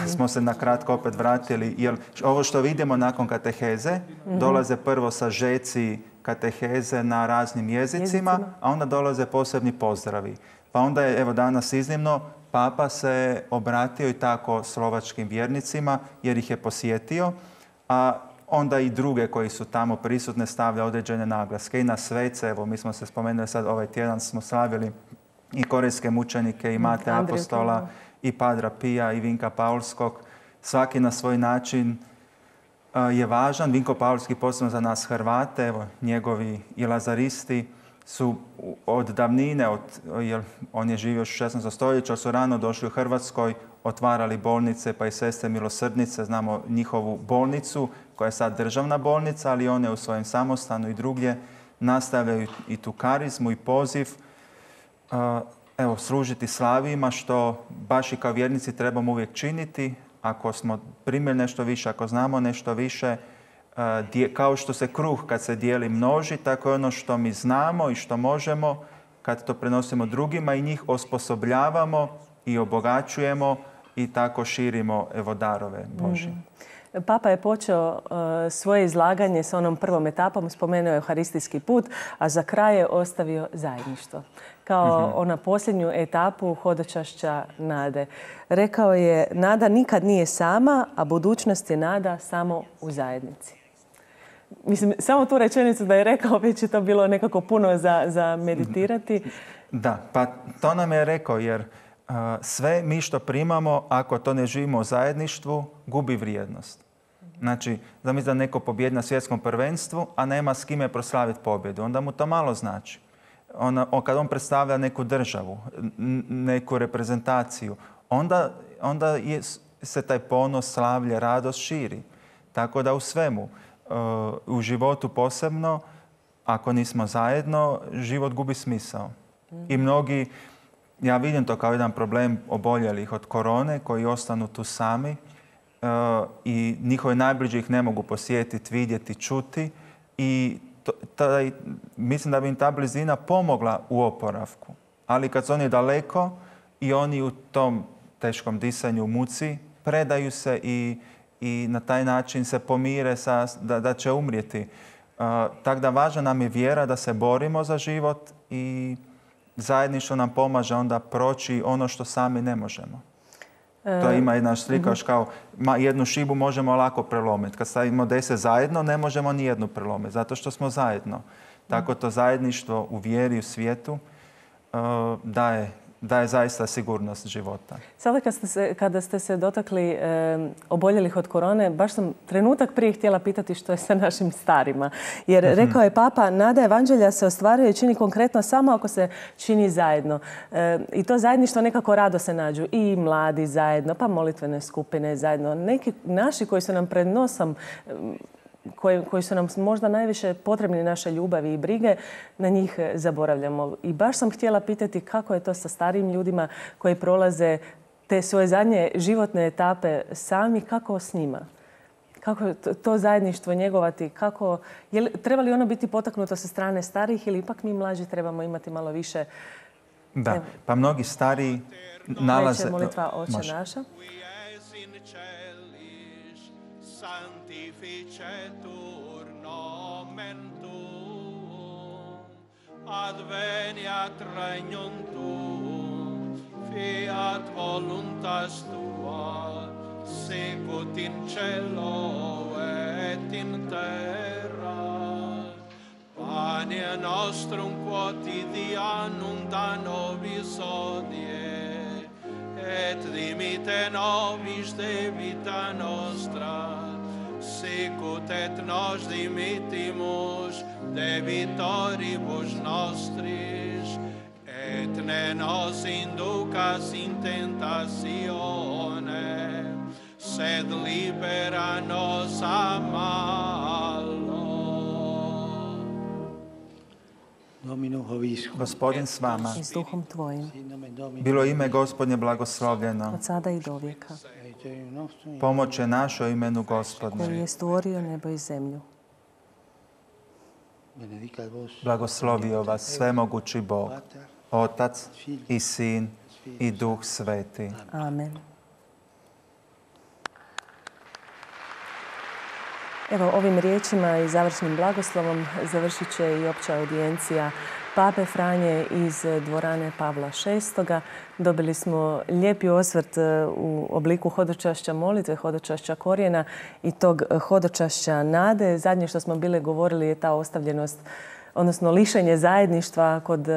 smo se na kratko opet vratili. Jer ovo što vidimo nakon kateheze, dolaze prvo sažeci kateheze na raznim jezicima, a onda dolaze posebni pozdravi. Pa onda je evo danas iznimno Papa se obratio i tako slovačkim vjernicima jer ih je posjetio, a onda i druge koji su tamo prisutne stavlja određene naglaske. I na svece, evo mi smo se spomenuli sad ovaj tjedan smo slavili i korejske mučenike i Mate Apostola i Padra Pija i Vinka Paulskog. Svaki na svoj način je važan. Vinko Paulski posebno za nas Hrvate, evo njegovi i lazaristi su od davnine, jer on je živio u 16. stoljeću, su rano došli u Hrvatskoj, otvarali bolnice, pa i Sestre milosrdnice, znamo njihovu bolnicu, koja je sad državna bolnica, ali one u svojem samostanu i drugdje nastavljaju i tu karizmu i poziv, služiti slavijima, što baš i kao vjernici trebamo uvijek činiti. Ako smo primili nešto više, ako znamo nešto više, kao što se kruh kad se dijeli množi, tako je ono što mi znamo i što možemo, kad to prenosimo drugima i njih osposobljavamo i obogaćujemo i tako širimo darove Božje. Papa je počeo svoje izlaganje sa onom prvom etapom, spomenuo je Euharistijski put, a za kraj je ostavio zajedništvo. Kao ona posljednju etapu hodočašća nade. Rekao je, nada nikad nije sama, a budućnost je nada samo u zajednici. Mislim, samo tu rečenicu da je rekao, već je to bilo nekako puno za meditirati. Da, pa to nam je rekao, jer sve mi što primamo, ako to ne živimo u zajedništvu, gubi vrijednost. Znači, zamisli da neko pobjedi na svjetskom prvenstvu, a nema s kime proslaviti pobjedu. Onda mu to malo znači. Kad on predstavlja neku državu, neku reprezentaciju, onda se taj ponos, slavlje, radost širi. Tako da u svemu, u životu posebno, ako nismo zajedno, život gubi smisao. I mnogi, ja vidim to kao jedan problem oboljelih od korone, koji ostanu tu sami i njihove najbliži ih ne mogu posjetiti, vidjeti, čuti i mislim da bi im ta blizina pomogla u oporavku. Ali kad su oni daleko i oni u tom teškom disanju, muci, predaju se i na taj način se pomire da će umrijeti. Tako da važna nam je vjera da se borimo za život i zajedništvo nam pomaže onda proći ono što sami ne možemo. To ima jedna slika još kao jednu šibu možemo lako prelomiti. Kad stavimo 10 zajedno ne možemo ni jednu prelomiti zato što smo zajedno. Tako to zajedništvo u vjeri u svijetu daje zaista sigurnost života. Sada kada ste se dotakli oboljelih od korone, baš sam trenutak prije htjela pitati što je sa našim starima. Jer rekao je Papa, nada evanđelja se ostvaruje i čini konkretno samo ako se čini zajedno. I to zajedništvo nekako rado se nađu. I mladi zajedno, pa molitvene skupine zajedno. Neki naši koji su nam pred nosom, koji su nam možda najviše potrebni naše ljubavi i brige, na njih zaboravljamo. I baš sam htjela pitati kako je to sa starijim ljudima koji prolaze te svoje zadnje životne etape sami, kako s njima? Kako to zajedništvo njegovati? Treba li ono biti potaknuto sa strane starijih ili ipak mi mlađi trebamo imati malo više? Da, pa mnogi stariji nalaze... Reče molitva Oče naša. Sanctificetur nomen tuum, adveniat regnum tuum, fiat voluntas tua, sicut in cielo et in terra. Panem Pane nostrum quotidianum da nobis hodie, et dimite nobis debita nostra, sicut et nos dimittimus debitoribus nostris, et ne nos inducas in tentatione, sed libera nos a malo. Gospodin s vama. I s duhom tvojim, Bilo ime Gospodnje blagoslovljeno. od sada i do vijeka, Pomoć je naša u imenu Gospodnje. koji je stvorio nebo i zemlju. Blagoslovio vas svemogući Bog, Otac i Sin i Duh Sveti. Amen. Evo, ovim riječima i završnim blagoslovom završit će i opća audijencija Pape Franje iz dvorane Pavla VI. Dobili smo lijepi osvrt u obliku hodočašća molitve, hodočašća korijena i tog hodočašća nade. Zadnje što smo bile govorili je ta ostavljenost, odnosno lišenje zajedništva kod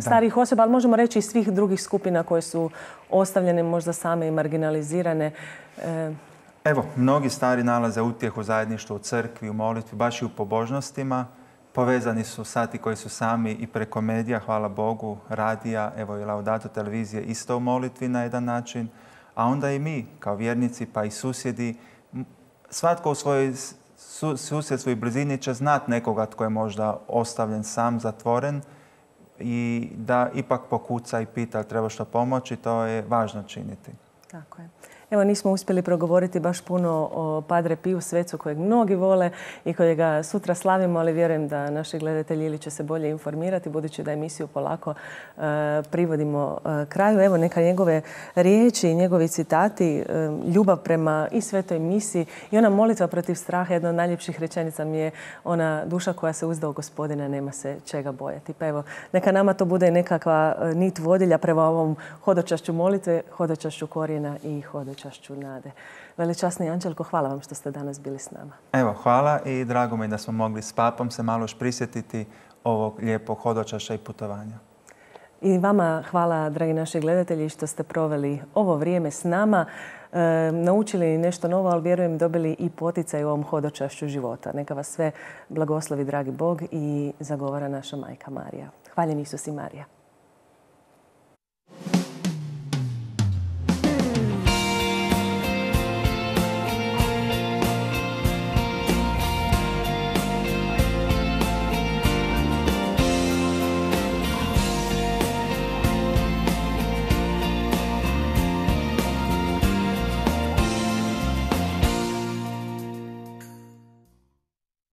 starijih osoba, ali možemo reći i svih drugih skupina koje su ostavljene možda same i marginalizirane. Evo, mnogi stari nalaze utjehu zajedništvu u crkvi, u molitvi, baš i u pobožnostima. Povezani su sati koji su sami i preko medija, hvala Bogu, radija, evo i Laudato televizije isto u molitvi na jedan način. A onda i mi kao vjernici pa i susjedi, svatko u svojoj susjedstvu i blizini će znati nekoga tko je možda ostavljen sam, zatvoren i da ipak pokuca i pita treba što pomoći, to je važno činiti. Tako je. Evo, nismo uspjeli progovoriti baš puno o Padre Piju Svecu kojeg mnogi vole i kojega sutra slavimo, ali vjerujem da naši gledatelji ili će se bolje informirati budući da emisiju polako privodimo kraju. Evo, neka njegove riječi i njegovi citati, ljubav prema i svetoj misi i ona molitva protiv straha, jedna od najljepših rečenica mi je ona duša koja se uzda u Gospodina, nema se čega bojati. Pa evo, neka nama to bude nekakva nit vodilja prema ovom hodočašću molitve, hodočašću korijena i hodočašću nade. Veličasni Anđelko, hvala vam što ste danas bili s nama. Evo, hvala i drago mi da smo mogli s papom se malo još prisjetiti ovog lijepog hodočašća i putovanja. I vama hvala, dragi naši gledatelji, što ste proveli ovo vrijeme s nama. Naučili nešto novo, ali vjerujem dobili i poticaj u ovom hodočašću života. Neka vas sve blagoslovi, dragi Bog, i zagovara naša Majka Marija. Hvaljen Isus i Marija.